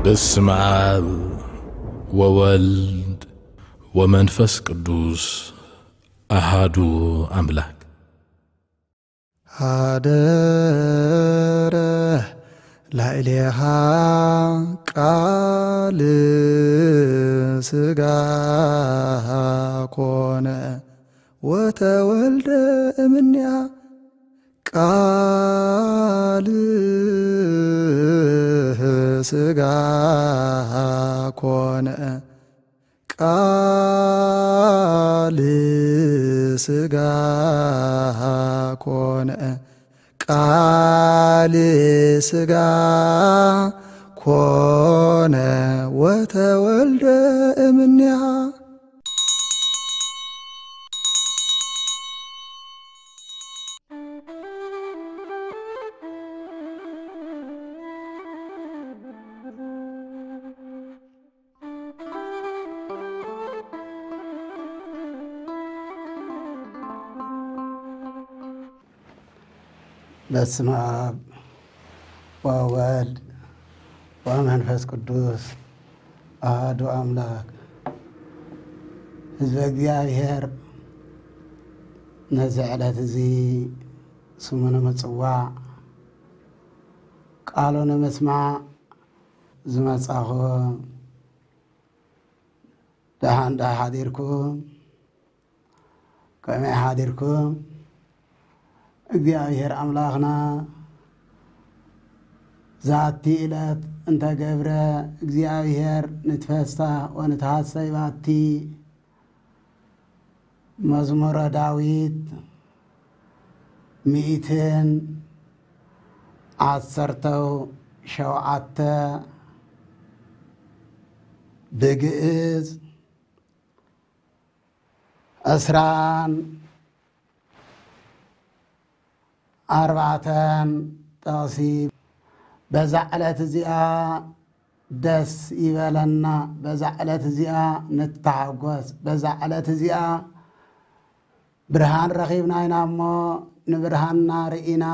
በስመ አብ ወወልድ ወመንፈስ ቅዱስ አሃዱ አምላክ። ሀደረ ላዕሌሃ ቃል ሥጋ ኮነ ወተወልደ እምኔሃ። ቃል ሥጋ ኮነ፣ ቃል ሥጋ ኮነ፣ ቃል ሥጋ ኮነ ወተወልደ እምኔሃ። በስመ አብ ወወልድ ወመንፈስ ቅዱስ አሐዱ አምላክ። ህዝበ እግዚኣብሔር፣ ነዚ ዕለት እዚ ስሙ ንምጽዋዕ፣ ቃሉ ንምስማዕ ዝመጻኹም፣ ደሓን ዶ ሓዲርኩም? ከመይ ሓዲርኩም? እግዚኣብሔር ኣምላኽና ዛቲ ዕለት እንተገብረ፣ እግዚኣብሔር ንትፈሳህ ወንትሃሰይ ባቲ። መዝሙረ ዳዊት ሚእትን ዓሰርተው ሸውዓተ፣ ብግእዝ ዕስራን ኣርባዕተን ጥቕሲ። በዛ ዕለት እዚኣ ደስ ይበለና፣ በዛ ዕለት እዚኣ ንተሓጎስ፣ በዛ ዕለት እዚኣ ብርሃን ረኺብና ኢና እሞ፣ ንብርሃንና ርኢና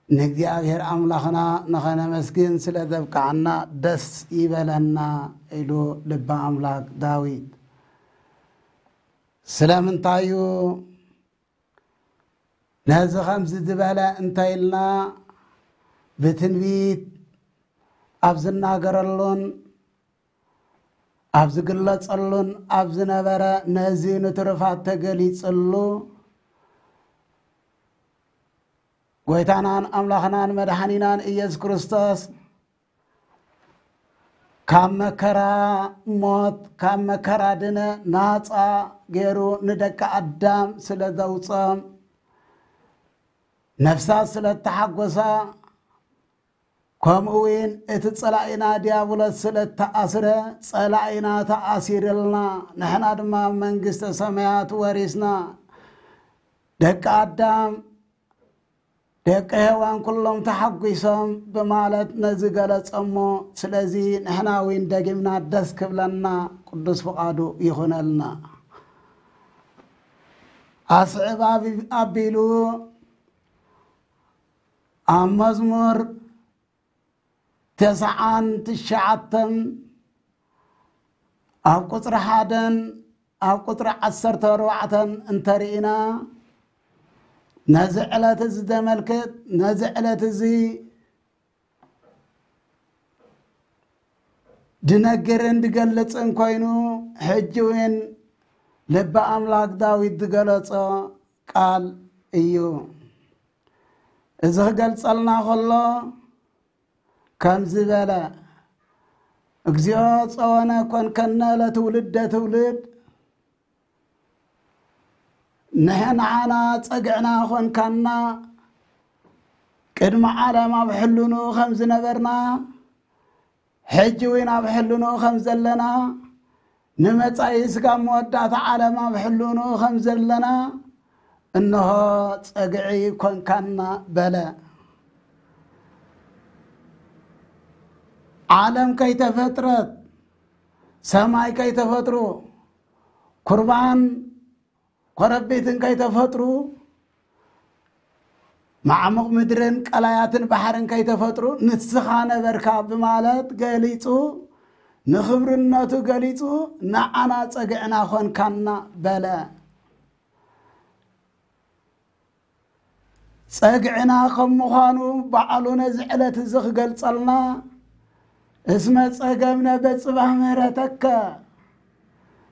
ንእግዚኣብሔር ኣምላኽና ንኸነመስግን ስለ ዘብቅዓና ደስ ይበለና ኢሉ ልበ ኣምላክ ዳዊት። ስለምንታይ እዩ ነዚ ከምዚ ዝበለ እንተ ኢልና፣ ብትንቢት ኣብ ዝናገረሉን ኣብ ዝግለጸሉን ኣብ ዝነበረ፣ ነዚ ንትሩፋት ተገሊጽሉ፣ ጎይታናን ኣምላኽናን መድሓኒናን ኢየሱስ ክርስቶስ ካብ መከራ ሞት፣ ካብ መከራ ድነ ናጻ ገይሩ ንደቂ ኣዳም ስለ ዘውጾም፣ ነፍሳት ስለ እተሓጎሳ፣ ከምኡ እውን እቲ ጸላኢና ዲያብሎስ ስለ እተኣስረ፣ ጸላኢና ተኣሲርልና፣ ንሕና ድማ መንግስተ ሰማያት ወሪስና። ደቂ ኣዳም፣ ደቂ ሔዋን ኩሎም ተሓጒሶም ብማለት ነዚ ገለጸ እሞ፣ ስለዚ ንሕና እውን ደጊምና ደስ ክብለና ቅዱስ ፍቓዱ ይኹነልና። ኣስዕብ ኣቢ-፣ ኣቢሉ ኣብ መዝሙር ተስዓን ትሽዓተን ኣብ ቁጽሪ ሓደን ኣብ ቁጽሪ ዓሰርተ ኣርባዕተን እንተርኢና፣ ነዚ ዕለት እዚ ዘመልክት፣ ነዚ ዕለት እዚ ድነግርን ድገልጽን ኮይኑ፣ ሕጂ እውን ልቢ ኣምላክ ዳዊት ዝገለጾ ቃል እዩ። እዚ ክገልጸልና ከሎ ከምዚ በለ፣ "እግዚኣብሔር ጸወነ ኮንከነ ለትውልደ ትውልድ፣ ንሕና ጸግዕና ኾንካና፣ ቅድሚ ዓለም ኣብ ሕልኑ ከም ዝነበርና፣ ሕጂ እውን ኣብ ሕልኑ ከም ዘለና፣ ንመጻኢ ስጋብ መወዳእታ ዓለም ኣብ ሕልኑ ከም ዘለና፣ እንሆ ጸግዒ ኮንካና" በለ። ዓለም ከይተፈጥረት፣ ሰማይ ከይተፈጥሩ፣ ኩርባን ኮረቢትን ከይተፈጥሩ፣ ማዕሙቕ ምድርን ቀላያትን ባሕርን ከይተፈጥሩ ንስኻ ነበርካ ብማለት ገሊጹ፣ ንኽብርነቱ ገሊጹ፣ ንዓና ጸግዕና ኾንካና በለ። ጸግዕና ከም ምዃኑ ባዕሉ ነዚ ዕለት እዚ ክገልጸልና፣ እስመ ጸገብነ በጽባሕ ምህረተከ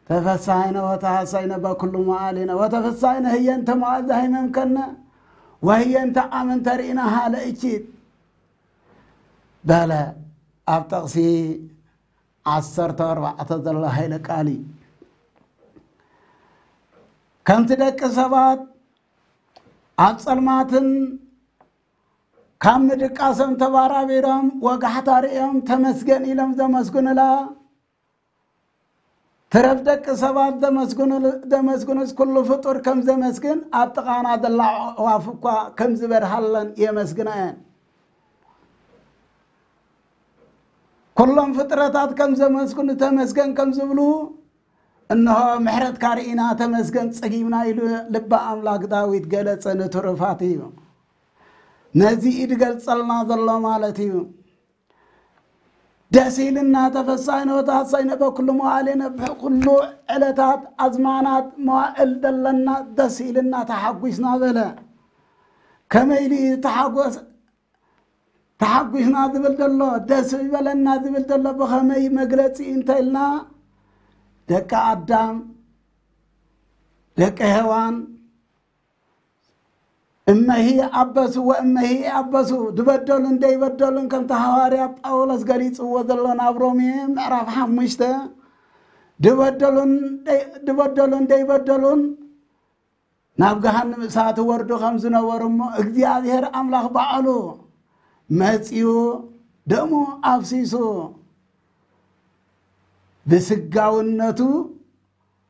ተፈሳይነ ወተሐሳይነ በኩሉ መዓሊነ ወተፈሳይነ ህየንተ መዓልቲ ሃይመምከነ ወህየንተ ኣመንተ ርኢና ሃለ እኪት በለ። ኣብ ጠቕሲ ዓሰርተ ኣርባዕተ ዘሎ ሃይለ ቃል እዩ። ከምቲ ደቂ ሰባት ኣብ ጸልማትን ካብ ምድቃሶም ተባራቢሮም ወጋሕታ ርእዮም ተመስገን ኢሎም ዘመስግኑላ፣ ትረፍ ደቂ ሰባት ዘመስግኑል-፣ ዘመስግኑስ ኩሉ ፍጡር ከም ዘመስግን ኣብ ጥቓና ዘላ ኣዕዋፍ እኳ ከም ዝበርሃለን የመስግና እየን። ኩሎም ፍጥረታት ከም ዘመስግኑ ተመስገን ከም ዝብሉ፣ እንሆ ምሕረትካ ርኢና ተመስገን ጸጊብና ኢሉ ልበ ኣምላክ ዳዊት ገለጸ። ንትሩፋት እዩ ነዚ ኢድ ገልጸልና ዘሎ ማለት እዩ። ደስ ኢልና ተፈሳይነ ወተሐሳይነ በኩሉ መዋዕሊነ፣ ብኩሉ ዕለታት ኣዝማናት መዋእል ዘለና ደስ ኢልና ተሓጒስና በለ። ከመይ ኢሉ እዩ ተሓጎስ-፣ ተሓጒስና ዝብል ዘሎ፣ ደስ ይበለና ዝብል ዘሎ ብኸመይ መግለጺ እንተ ኢልና፣ ደቂ ኣዳም፣ ደቂ ሄዋን፣ እመሂ ኣበሱ ወእመሂ ኣበሱ፣ ዝበደሉን ደይበደሉን፣ ከምቲ ሃዋርያ ጳውሎስ ገሊጽዎ ዘሎ ናብ ሮሜ ምዕራፍ ሓሙሽተ፣ ዝበደሉን ደይ-፣ ዝበደሉን ደይበደሉን ናብ ገሃንም እሳት ወርዱ ከም ዝነበሩ እሞ፣ እግዚኣብሔር ኣምላኽ ባዕሉ መጺኡ ደሙ ኣፍሲሱ ብስጋውነቱ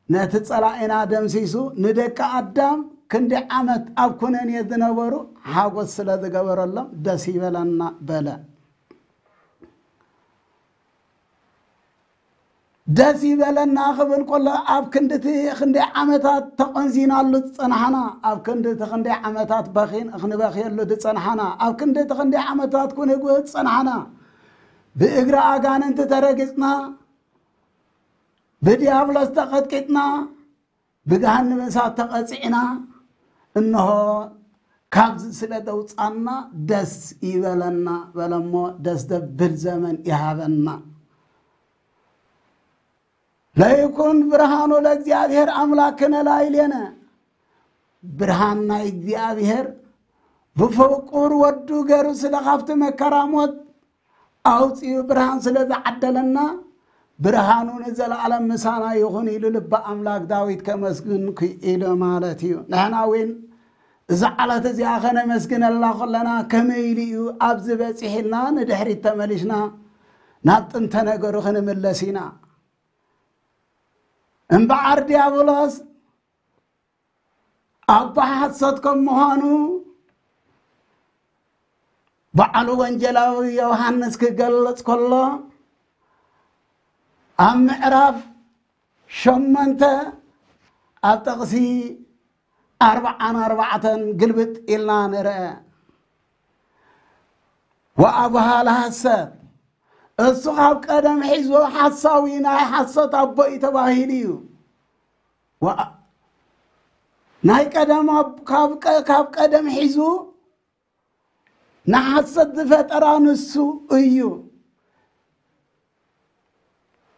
ነቲ ጸላኢና ደምሲሱ ንደቂ ኣዳም ክንዲ ዓመት ኣብ ኩነኔ ዝነበሩ ሓጎስ ስለ ዝገበረሎም ደስ ይበለና በለ። ደስ ይበለና ክብል ከሎ፣ ኣብ ክንድቲ ክንደይ ዓመታት ተቖንዚናሉ ዝጸናሕና፣ ኣብ ክንድቲ ክንደይ ዓመታት በኺን ክንበኽየሉ ዝጸናሕና፣ ኣብ ክንድቲ ክንደይ ዓመታት ክንጉህ ዝጸናሕና፣ ብእግሪ ኣጋንንቲ ተረጊጽና፣ ብዲያብሎስ ተቐጥቂጥና፣ ብገሃነመ እሳት ተቐጺዕና፣ እንሆ ካብዚ ስለ ዘውጻና ደስ ይበለና በለሞ፣ ደስ ዘብል ዘመን ይሃበና። ለይኩን ብርሃኑ ለእግዚኣብሔር ኣምላክነ ላዕሌነ፣ ብርሃን ናይ እግዚኣብሔር ብፍቁር ወዱ ገይሩ ስለ ካብቲ መከራ ሞት ኣውጺኡ ብርሃን ስለ ዝዓደለና፣ ብርሃኑ ንዘለኣለም ምሳና ይኹን ኢሉ ልበ ኣምላክ ዳዊት ከመስግን ክኢሉ ማለት እዩ። ንሕና እውን እዛ ዕለት እዚኣ ከነመስግነላ ከለና ከመይ ኢሉ እዩ ኣብዚ በጺሕ ኢልና ንድሕሪት ተመሊስና ናብ ጥንተ ነገሩ ክንምለስ ኢና። እምበኣር ዲያብሎስ ኣቦ ሓሶት ከም ምዃኑ ባዕሉ ወንጌላዊ ዮሃንስ ክገልጽ ከሎ ኣብ ምዕራፍ ሸሞንተ ኣብ ጥቕሲ ኣርብዓን ኣርባዕተን ግልብጥ ኢልና ንርአ። ወኣቡሃ ለሐሰት፣ እሱ ካብ ቀደም ሒዙ ሓሳዊ ናይ ሓሶት ኣቦ እዩ ተባሂሉ እዩ። ወኣ-፣ ናይ ቀደም ኣብ-፣ ካብ ቀ-፣ ካብ ቀደም ሒዙ ንሓሰት ዝፈጠራ ንሱ እዩ።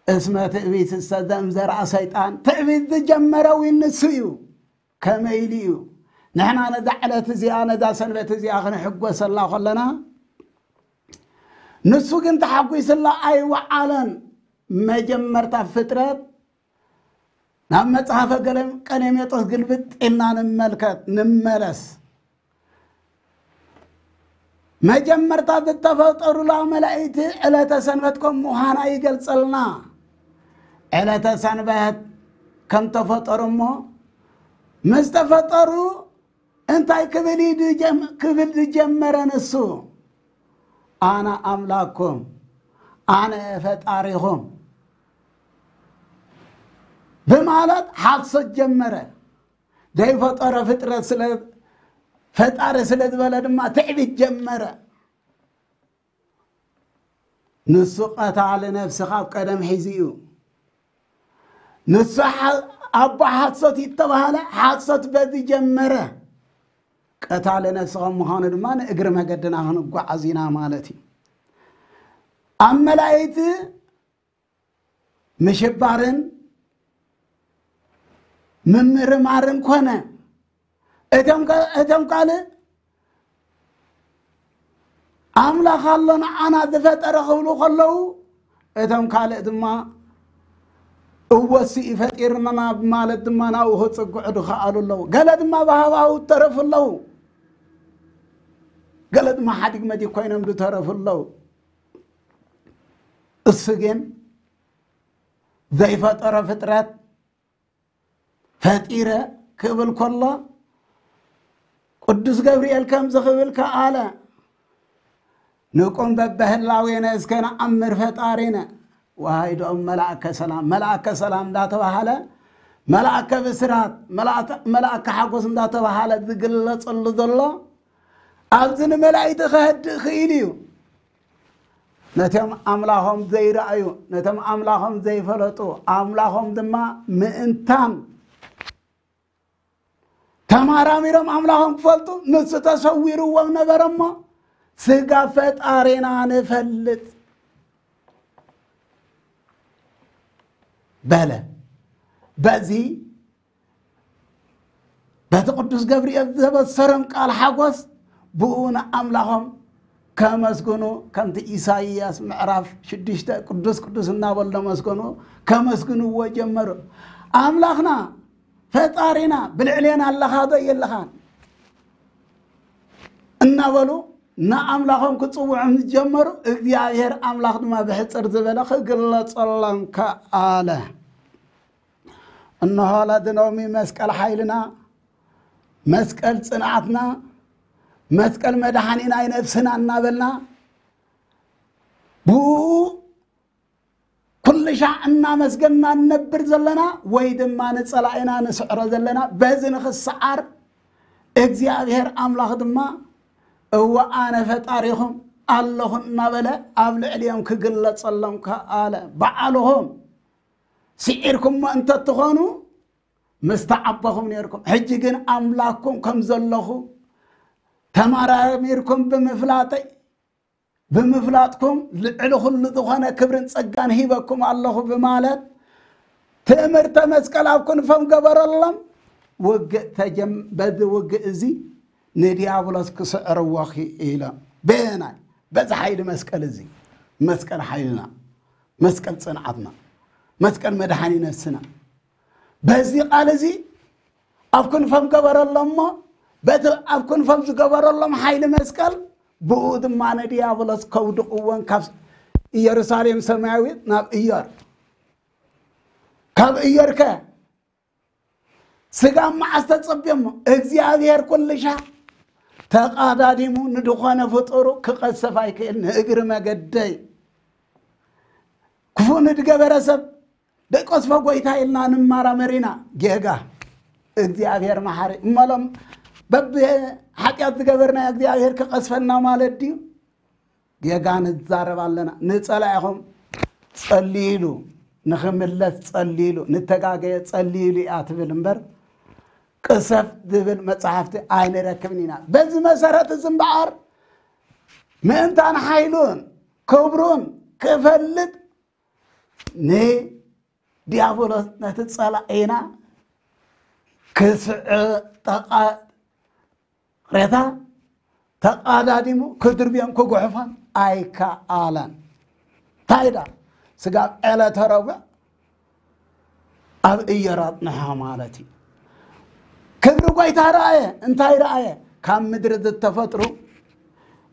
እስመ ትዕቢት እሰ ዘእምዘርኣ ሰይጣን፣ ትዕቢት ዝጀመረ እውን ንሱ እዩ። ከመይ ኢሉ እዩ? ንሕና ነዛ ዕለት እዚኣ፣ ነዛ ሰንበት እዚኣ ክንሕጎሰላ ከለና፣ ንሱ ግን ተሓጒስላ ኣይወዓለን። መጀመርታ ፍጥረት ናብ መጽሓፈ ገለ-፣ ቀሌሜጦስ ግልብጥ ኢልና ንመልከት፣ ንመለስ። መጀመርታ ዝተፈጠሩላ መላእክቲ ዕለተ ሰንበት ከም ምዃና ይገልጸልና። ዕለተ ሰንበት ከም ተፈጠሩ እሞ፣ ምስ ተፈጠሩ እንታይ ክብል እዩ ድጀም-፣ ክብል ዝጀመረ ንሱ? ኣነ ኣምላክኩም፣ ኣነ ፈጣሪኹም ብማለት ሓሶት ጀመረ። ዘይፈጠሮ ፍጥረት ስለ፣ ፈጣሪ ስለ ዝበለ ድማ ትዕቢት ጀመረ። ንሱ ቀታሊ ነፍሲ ካብ ቀደም ሒዙ እዩ። ንሱ ሓ-፣ ኣቦ ሓሶት እዩ እተባህለ፣ ሓሶት በዚ ጀመረ። ቀታሊ ነፍሲ ከም ምዃኑ ድማ ንእግሪ መገድና ክንጓዓዝ ኢና ማለት እዩ። ኣብ መላእክቲ ምሽባርን ምምርማርን ኮነ። እቶም ከ-፣ እቶም ካልእ ኣምላኽ ኣሎ ንዓና ዝፈጠረ ክብሉ ከለዉ፣ እቶም ካልእ ድማ እወ እሱ እዩ ፈጢርና ብማለት ድማ ናብኡ ክጽግዑ ዝኸኣሉ ኣለዉ። ገለ ድማ ብሃዋሁ ዝተረፉ ኣለዉ። ገለ ድማ ሓዲግ መዲግ ኮይኖም ዝተረፉ ኣለዉ። እሱ ግን ዘይፈጠሮ ፍጥረት ፈጢረ ክብል ከሎ፣ ቅዱስ ገብርኤል ከምዚ ክብል ከኣለ፣ ንቁም በበህላዌነ እስከ ነኣምር ፈጣሪነ። ወሃይዶም መልኣከ ሰላም፣ መልኣከ ሰላም እንዳተባሃለ፣ መልኣከ ብስራት፣ መልኣከ፣ መልኣከ ሓጎስ እንዳተባሃለ ዝግለጸሉ ዘሎ፣ ኣብዚ ንመላእክቲ ከህድእ ክኢሉ እዩ። ነቶም ኣምላኾም ዘይረኣዩ፣ ነቶም ኣምላኾም ዘይፈለጡ፣ ኣምላኾም ድማ ምእንታን ተማራሚሮም ኣምላኾም ክፈልጡ ንሱ ተሰዊርዎም ነበረ እሞ፣ ስጋ ፈጣሪና ንፈልጥ በለ። በዚ በቲ ቅዱስ ገብርኤል ዘበሰሮም ቃል ሓጎስ ብኡ ንኣምላኾም ከመስግኑ፣ ከምቲ ኢሳይያስ ምዕራፍ ሽዱሽተ ቅዱስ ቅዱስ እናበሉ ዘመስገኑ ከመስግንዎ ጀመሩ። ኣምላኽና ፈጣሪና ብልዕሌና ኣለኻ ዶ የለኻን እናበሉ ንኣምላኾም ክጽውዑ ምስ ጀመሩ፣ እግዚኣብሔር ኣምላኽ ድማ ብሕጽር ዝበለ ክግለጸሎም ከኣለ። እንሆ ለድነውሚ መስቀል ሓይልና፣ መስቀል ጽንዓትና፣ መስቀል መድሓኒ ናይ ነፍስና እናበልና ብኡ ኩሉ ሻዕ እናመስገንና ንነብር ዘለና ወይ ድማ ንጸላኢና ንስዕሮ ዘለና፣ በዚ ንኽሰዓር እግዚኣብሔር ኣምላኽ ድማ እወ ኣነ ፈጣሪኹም ኣለኹ እናበለ ኣብ ልዕሊኦም ክግለጸሎም ከኣለ። በዓልኹም ስዒርኩሞ እንተትኾኑ ምስ ተዓበኹም ነይርኩም። ሕጂ ግን ኣምላኽኩም ከም ዘለኹ ተመራሚርኩም ብምፍላጠይ፣ ብምፍላጥኩም ልዕሊ ኩሉ ዝኾነ ክብርን ጸጋን ሂበኩም ኣለኹ ብማለት ትእምርተ መስቀል ኣብ ክንፎም ገበረሎም። ውግእ ተጀም-፣ በዚ ውግእ እዚ ንዲያብሎስ ክስዕርዎ ክኢሎም። በየናይ? በዚ ሓይሊ መስቀል እዚ። መስቀል ሓይልና፣ መስቀል ጽንዓትና፣ መስቀል መድሓኒ ነፍስና። በዚ ቃል እዚ ኣብ ክንፎም ገበረሎም እሞ፣ በቲ ኣብ ክንፎም ዝገበረሎም ሓይሊ መስቀል፣ ብኡ ድማ ንዲያብሎስ ከውድቕዎን ካብ ኢየሩሳሌም ሰማያዊት ናብ እዮር፣ ካብ እዮር ከ ስጋ መዓስ ተጸብዮሞ? እግዚኣብሔር ኩልሻ ተቓዳዲሙ ንድኾነ ፍጡሩ ክቐሰፍ ኣይክእል። ንእግሪ መገደይ ክፉእ ንድገበረ ሰብ ደቀስፎ ጎይታ ኢልና ንመራመር ኢና። ጌጋ። እግዚኣብሔር መሓሪ እመሎም በብ ሓጢኣት ዝገበርና እግዚኣብሔር ክቐስፈና ማለት ድዩ? ጌጋ ንዛረብ ኣለና። ንጸላኢኹም ጸልይሉ፣ ንኽምለስ ጸልይሉ፣ ንተጋገየ ጸልይሉ እያ ትብል እምበር፣ ቅሰፍ ዝብል መጽሓፍቲ ኣይንረክብን ኢና። በዚ መሰረት እዚ እምበኣር፣ ምእንታን ሓይሉን ክብሩን ክፈልጥ ንዲያብሎስ ነቲ ጸላኢና ክስዕ ጠቓ-፣ ሬታ ተቓዳዲሙ ክድርብዮም ክጉሕፎም ኣይከኣለን። እንታይ ዳ ስጋብ ዕለተ ረቡዕ ኣብ እዮር ኣጽንሖ ማለት እዩ። ክብሪ ጎይታ ረኣየ። እንታይ ረኣየ? ካብ ምድሪ ዝተፈጥሩ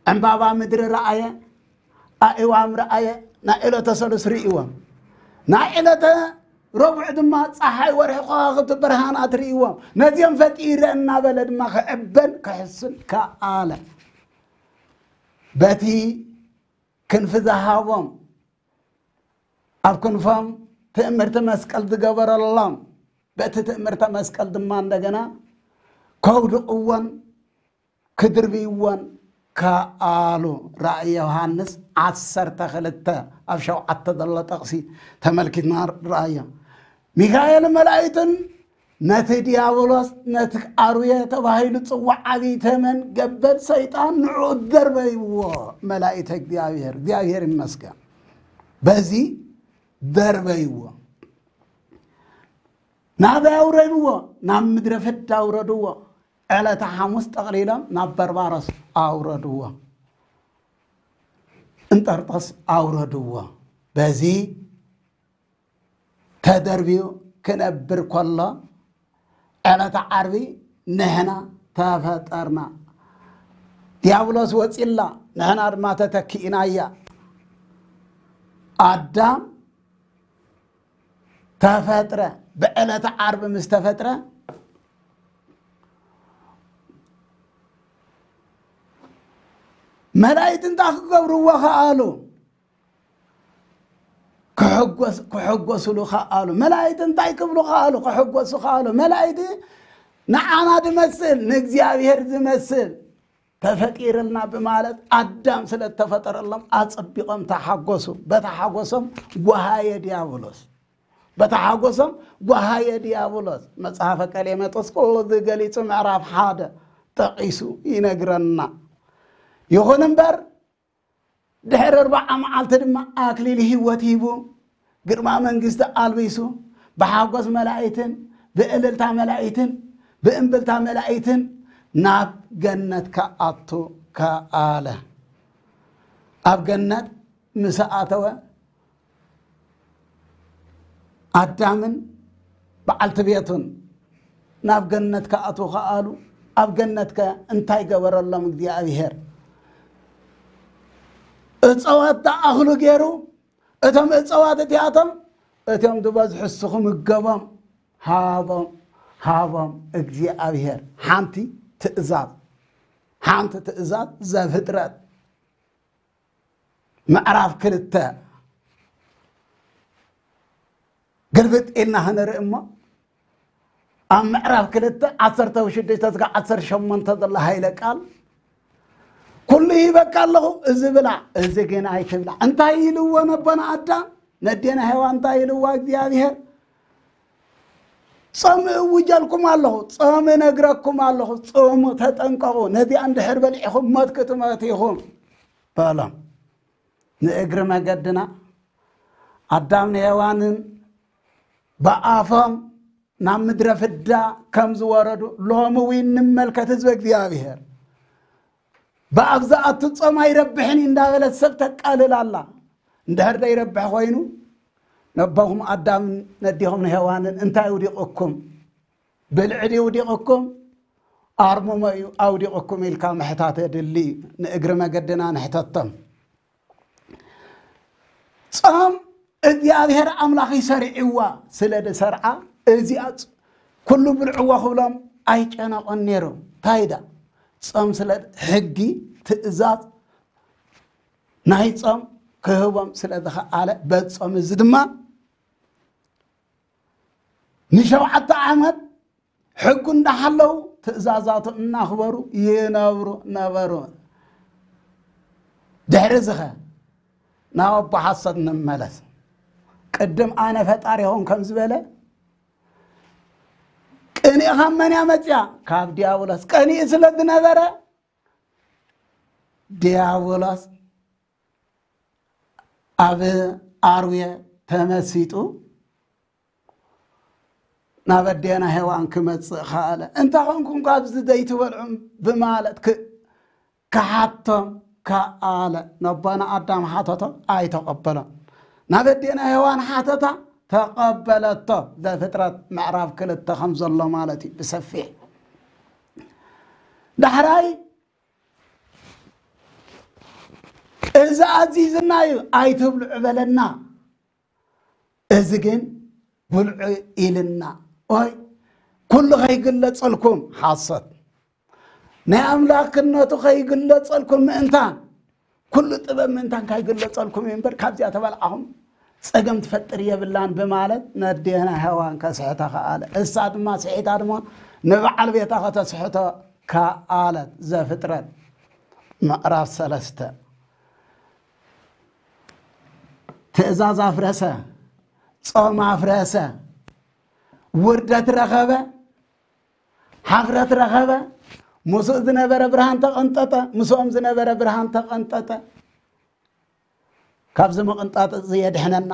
ዕምባባ ምድሪ ረኣየ፣ ኣእዋም ረኣየ። ናይ ዕለተ ሰሉስ ርእይዎም፣ ናይ ዕለተ ረቡዕ ድማ ጸሓይ፣ ወርሒ፣ ከዋኽብቲ፣ ብርሃናት ርእይዎም። ነዚኦም ፈጢረ እናበለ ድማ ክዕበን ክሕስን ከኣለ። በቲ ክንፊ ዝሃቦም፣ ኣብ ክንፎም ትእምርቲ መስቀል ዝገበረሎም፣ በቲ ትእምርተ መስቀል ድማ እንደገና ከውድቕዎን ክድርብይዎን ከኣሉ። ራእይ ዮሃንስ ዓሰርተ ክልተ ኣብ ሸውዓተ ዘሎ ጥቕሲ ተመልኪትና ራእዮ። ሚካኤል መላእክትን ነቲ ዲያብሎስ፣ ነቲ ኣርዌ ተባሂሉ ጽዋዕ ዓብዪ ተመን ገበል ሰይጣን ንዑ ደርበይዎ። መላእክተ እግዚኣብሔር፣ እግዚኣብሔር ይመስገን። በዚ ደርበይዎ። ናበይ ኣውረድዎ? ናብ ምድረ ፍዳ ኣውረድዎ። ዕለተ ሓሙስ ጠቕሊሎም ናብ በርባሮስ ኣውረድዎ። እንጠርጦስ ኣውረድዎ። በዚ ተደርብዩ ክነብር ከሎ፣ ዕለተ ዓርቢ ንሕና ተፈጠርና። ዲያብሎስ ወጺላ፣ ንሕና ድማ ተተኪእናያ። ኣዳም ተፈጥረ። ብዕለተ ዓርቢ ምስ ተፈጥረ፣ መላእክት እንታይ ክገብርዎ ከኣሉ? ክሕጎስ-፣ ክሕጎስሉ ከኣሉ። መላእክት እንታይ ክብሉ ከኣሉ? ክሕጎሱ ከኣሉ። መላእክት ንዓና ዝመስል፣ ንእግዚኣብሔር ዝመስል ተፈጢርልና ብማለት ኣዳም ስለ እተፈጠረሎም ኣጸቢቖም ተሓጎሱ። በታ ሓጎሶም ጓሃየ ዲያብሎስ። በታ ሓጎሶም ጓሃየ ዲያብሎስ። መጽሓፈ ቀሌሜንጦስ ኩሉ እዚ ገሊጹ ምዕራፍ ሓደ ጠቒሱ ይነግረና። ይኹን እምበር ድሕሪ ኣርብዓ መዓልቲ ድማ ኣክሊል ህይወት ሂቡ፣ ግርማ መንግስቲ ኣልቢሱ፣ ብሓጎስ መላእክትን ብእልልታ መላእክትን ብእምብልታ መላእክትን ናብ ገነት ክኣቱ ከኣለ። ኣብ ገነት ምስ ኣተወ፣ ኣዳምን በዓልቲ ቤቱን ናብ ገነት ክኣትዉ ከኣሉ። ኣብ ገነትከ እንታይ ገበረሎም እግዚኣብሔር? እፀዋት ተኣኽሉ ገይሩ፣ እቶም እፀዋት እቲኣቶም፣ እቶም ዝበዝሑ እስኹ ምገቦም፣ ሃቦም፣ ሃቦም እግዚኣብሔር። ሓንቲ ትእዛዝ፣ ሓንቲ ትእዛዝ ዘፍጥረት ምዕራፍ ክልተ ግልብጥ ኢልና ክንርኢ እሞ፣ ኣብ ምዕራፍ ክልተ ዓሰርተ ሽዱሽተ እስከ ዓሰርተ ሸሞንተ ዘሎ ሃይለ ቃል፣ "ኩሉ ሂበካ ኣለኹ፣ እዚ ብላዕ፣ እዚ ግን ኣይትብላዕ." እንታይ ኢልዎ ነቦና ኣዳም? ነዴና ሄዋን እንታይ ኢልዋ እግዚኣብሔር? "ጾም እውጀልኩም ኣለኹ፣ ጾም እነግረኩም ኣለኹ፣ ጾሙ ተጠንቀቑ፣ ነዚኣ እንድሕር በሊዕኹም ሞት ክትመቱ ኢኹም" በሎም። ንእግሪ መገድና ኣዳም ንሄዋንን ብኣፎም ናብ ምድረ ፍዳ ከም ዝወረዱ ሎሚ እውን ንመልከት ህዝበ እግዚኣብሔር። ብኣፍ ዝኣቱ ጾም ኣይረብሕን እዩ እንዳበለት ሰብ ተቃልል ኣላ። እንድሕር ዘይረብሕ ኮይኑ፣ ነቦኹም ኣዳምን ነዴኹም ንሄዋንን እንታይ ውዲቕኩም? ብልዒ ድዩ ውዲቕኩም? ኣርምሞ እዩ ኣውዲቕኩም ኢልካ ምሕታት የድሊ እዩ። ንእግሪ መገድና ንሕተቶም። ጾም እግዚኣብሔር ኣምላኽ ይሰሪዕዋ ስለ ዝሰርዓ፣ እዚኣ ጽ-፣ ኩሉ ብልዕዎ ክብሎም ኣይጨነቖን ነይሩ። እንታይ ዳ? ጾም ስለ ሕጊ፣ ትእዛዝ ናይ ጾም ክህቦም ስለ ዝኸኣለ፣ በዚ ጾም እዚ ድማ ንሸውዓተ ዓመት ሕጉ እንዳሓለዉ ትእዛዛቱ እናኽበሩ ይነብሩ ነበሩ። ድሕሪ ዝኸ ናብ ኣቦ ሓሶት ንመለስ። ቅድም ኣነ ፈጣሪኹም ከም ዝበለ፣ ቅንኢ ካብ መን እያ መጽያ? ካብ ዲያብሎስ። ቀኒኡ ስለ ዝነበረ ዲያብሎስ ኣብ ኣርዌ ተመሲጡ ናብ ኣዴና ሄዋን ክመጽእ ከኣለ። "እንተ ኾንኩም ካብዚ ዘይትበልዑ?" ብማለት ክ-፣ ክሓቶም ከኣለ። ነቦና ኣዳም ሓተቶ፣ ኣይተቐበሎን። ናብ ኣዴና ሄዋን ሓተታ፣ ተቐበለቶ። ዘፍጥረት ምዕራፍ ክልተ ከም ዘሎ ማለት እዩ ብሰፊሕ። ዳሕራይ፣ "እዚ ኣዚዝና እዩ፣ ኣይትብልዑ" በለና። "እዚ ግን ብልዑ" ኢልና። ኦይ፣ ኩሉ ከይግለጸልኩም፣ ሓሶት፣ ናይ ኣምላኽነቱ ከይግለጸልኩም ምእንታን፣ ኩሉ ጥበብ ምእንታን ከይግለጸልኩም እዩ እምበር፣ ካብዚኣ ተበልዓኹም ጸገም ትፈጥር የብላን ብማለት ነዴና ሄዋን ከስሕታ ከኣለ። እሳ ድማ ስሒታ ድማ ንበዓል ቤታ ከተስሕቶ ከኣለት። ዘፍጥረት ምዕራፍ ሰለስተ። ትእዛዝ ኣፍረሰ፣ ጾም ኣፍረሰ፣ ውርደት ረኸበ፣ ሓፍረት ረኸበ። ምስኡ ዝነበረ ብርሃን ተቐንጠጠ፣ ምስኦም ዝነበረ ብርሃን ተቐንጠጠ። ካብዚ ምቕንጣጥ እዚ የድሕነና፣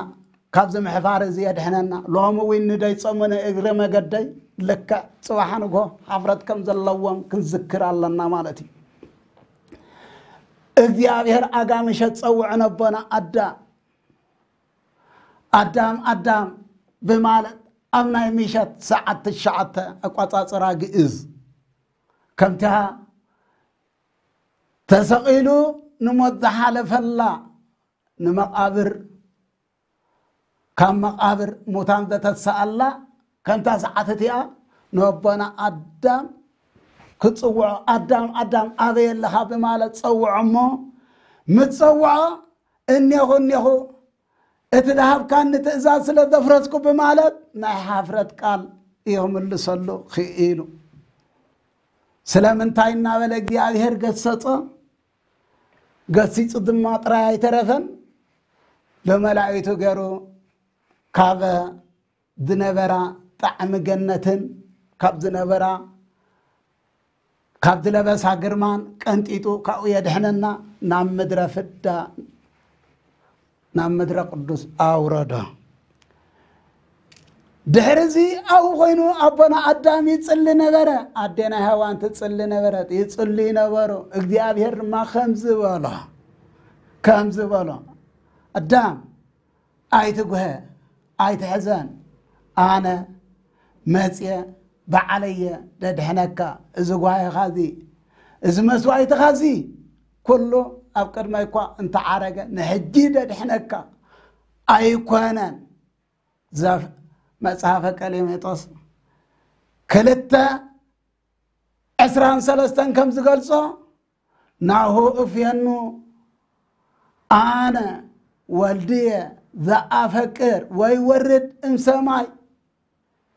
ካብዚ ምሕፋር እዚ የድሕነና። ሎሚ እውን ንደይ ጾሙ ንእግሪ መገደይ ልክዕ ጽባሕ ንግሆ ሓፍረት ከም ዘለዎም ክንዝክር ኣለና ማለት እዩ። እግዚኣብሔር ኣጋ ምሸት ጸውዑ ነቦና ኣዳም፣ ኣዳም ኣዳም ብማለት ኣብ ናይ ምሸት ሰዓት ትሽዓተ ኣቋጻጽራ ግእዝ ከምታ ተሰቒሉ ንሞት ዝሓለፈላ ንመቓብር ካብ መቓብር ሙታን ዘተስኣላ ከምታ ሰዓት እቲኣ ነቦና ኣዳም ክጽውዖ፣ ኣዳም ኣዳም ኣበይ ኣለኻ ብማለት ጸውዖ እሞ ምስ ጸውዖ እኔኹ እኔኹ እቲ ዝሃብካኒ ትእዛዝ ስለ ዘፍረስኩ ብማለት ናይ ሓፍረት ቃል ይኽምልሰሉ ክኢሉ። ስለምንታይ እናበለ እግዚኣብሔር ገሰጾ? ገሲጹ ድማ ጥራይ ኣይተረፈን፣ ብመላእክቱ ገይሩ ካብ ዝነበራ ጣዕሚ ገነትን ካብ ዝነበራ ካብ ዝለበሳ ግርማን ቀንጢጡ ካብኡ የድሕነና፣ ናብ ምድረ ፍዳ ናብ ምድረ ቅዱስ ኣውረዶ። ድሕሪ እዚ ኣብኡ ኮይኑ ኣቦና ኣዳም ይጽሊ ነበረ፣ ኣዴና ሄዋን ትጽሊ ነበረት፣ ይጽልዩ ነበሩ። እግዚኣብሔር ድማ ከምዚ በሎ፣ ከምዚ በሎ፣ ኣዳም ኣይትጉሀ፣ ኣይትሕዘን፣ ኣነ መጽየ ባዕለየ ደድሕነካ። እዚ ጓሂኻ እዚ፣ እዚ መስዋእትኻ እዚ ኩሉ ኣብ ቅድመይ እኳ እንተዓረገ ንሕጂ ደድሕነካ ኣይኮነን። ዘፍ መጽሓፈ ቀሌሜጦስ ክልተ ዕስራን ሰለስተን ከም ዝገልጾ ናሁ እፍየኑ ኣነ ወልድየ ዘኣፈቅር ወይ ወርድ እምሰማይ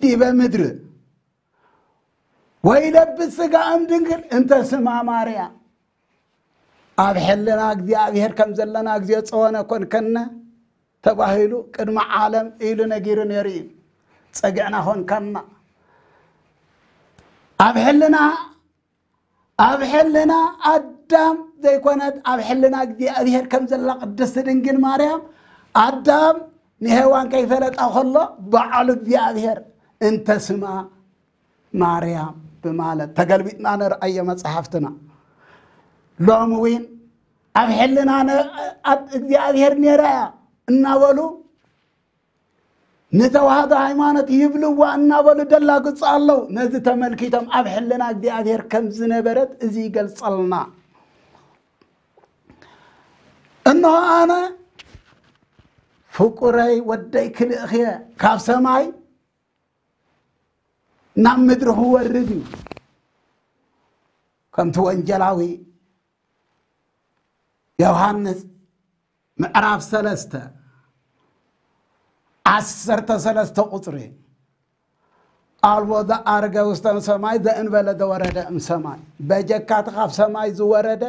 ዲበ ምድር ወይ ለብስ ስጋ እም ድንግል እንተ ስማ ማርያም። ኣብ ሕልና እግዚኣብሔር ከም ዘለና እግዚኣብሔር ጸወነ ኮንከነ ተባሂሉ ቅድሚ ዓለም ኢሉ ነጊሩ ነይሩ እዩ። ጸግዕና ኮንካና። ኣብ ሕልና ኣብ ሕልና ኣዳም ዘይኮነት ኣብ ሕልና እግዚኣብሔር ከም ዘላ ቅድስቲ ድንግል ማርያም ኣዳም ንሄዋን ከይፈለጣ ከሎ ባዕሉ እግዚኣብሔር እንተ ስማ ማርያም ብማለት ተገልቢጥና ንርኣዮ መጽሓፍትና። ሎሚ እውን ኣብ ሕልና ነ- ኣብ እግዚኣብሔር ነይራ እያ እናበሉ ንተዋህዶ ሃይማኖት ይብልዋ እናበሉ ደላግጹ ኣለዉ። ነዚ ተመልኪቶም ኣብ ሕልና እግዚኣብሔር ከም ዝነበረት እዚ ይገልጸልና። እንሆ ኣነ ፍቁረይ ወደይ ክልእኽየ ካብ ሰማይ ናብ ምድሪ ክወርድ እዩ። ከምቲ ወንጀላዊ ዮሃንስ ምዕራፍ ሰለስተ ዓሰርተ ሰለስተ ቁጽሪ ኣልቦ ዘኣርገ ውስተ ሰማይ ዘእንበለ ዘወረደ እምሰማይ። በጀካቲ ካብ ሰማይ ዝወረደ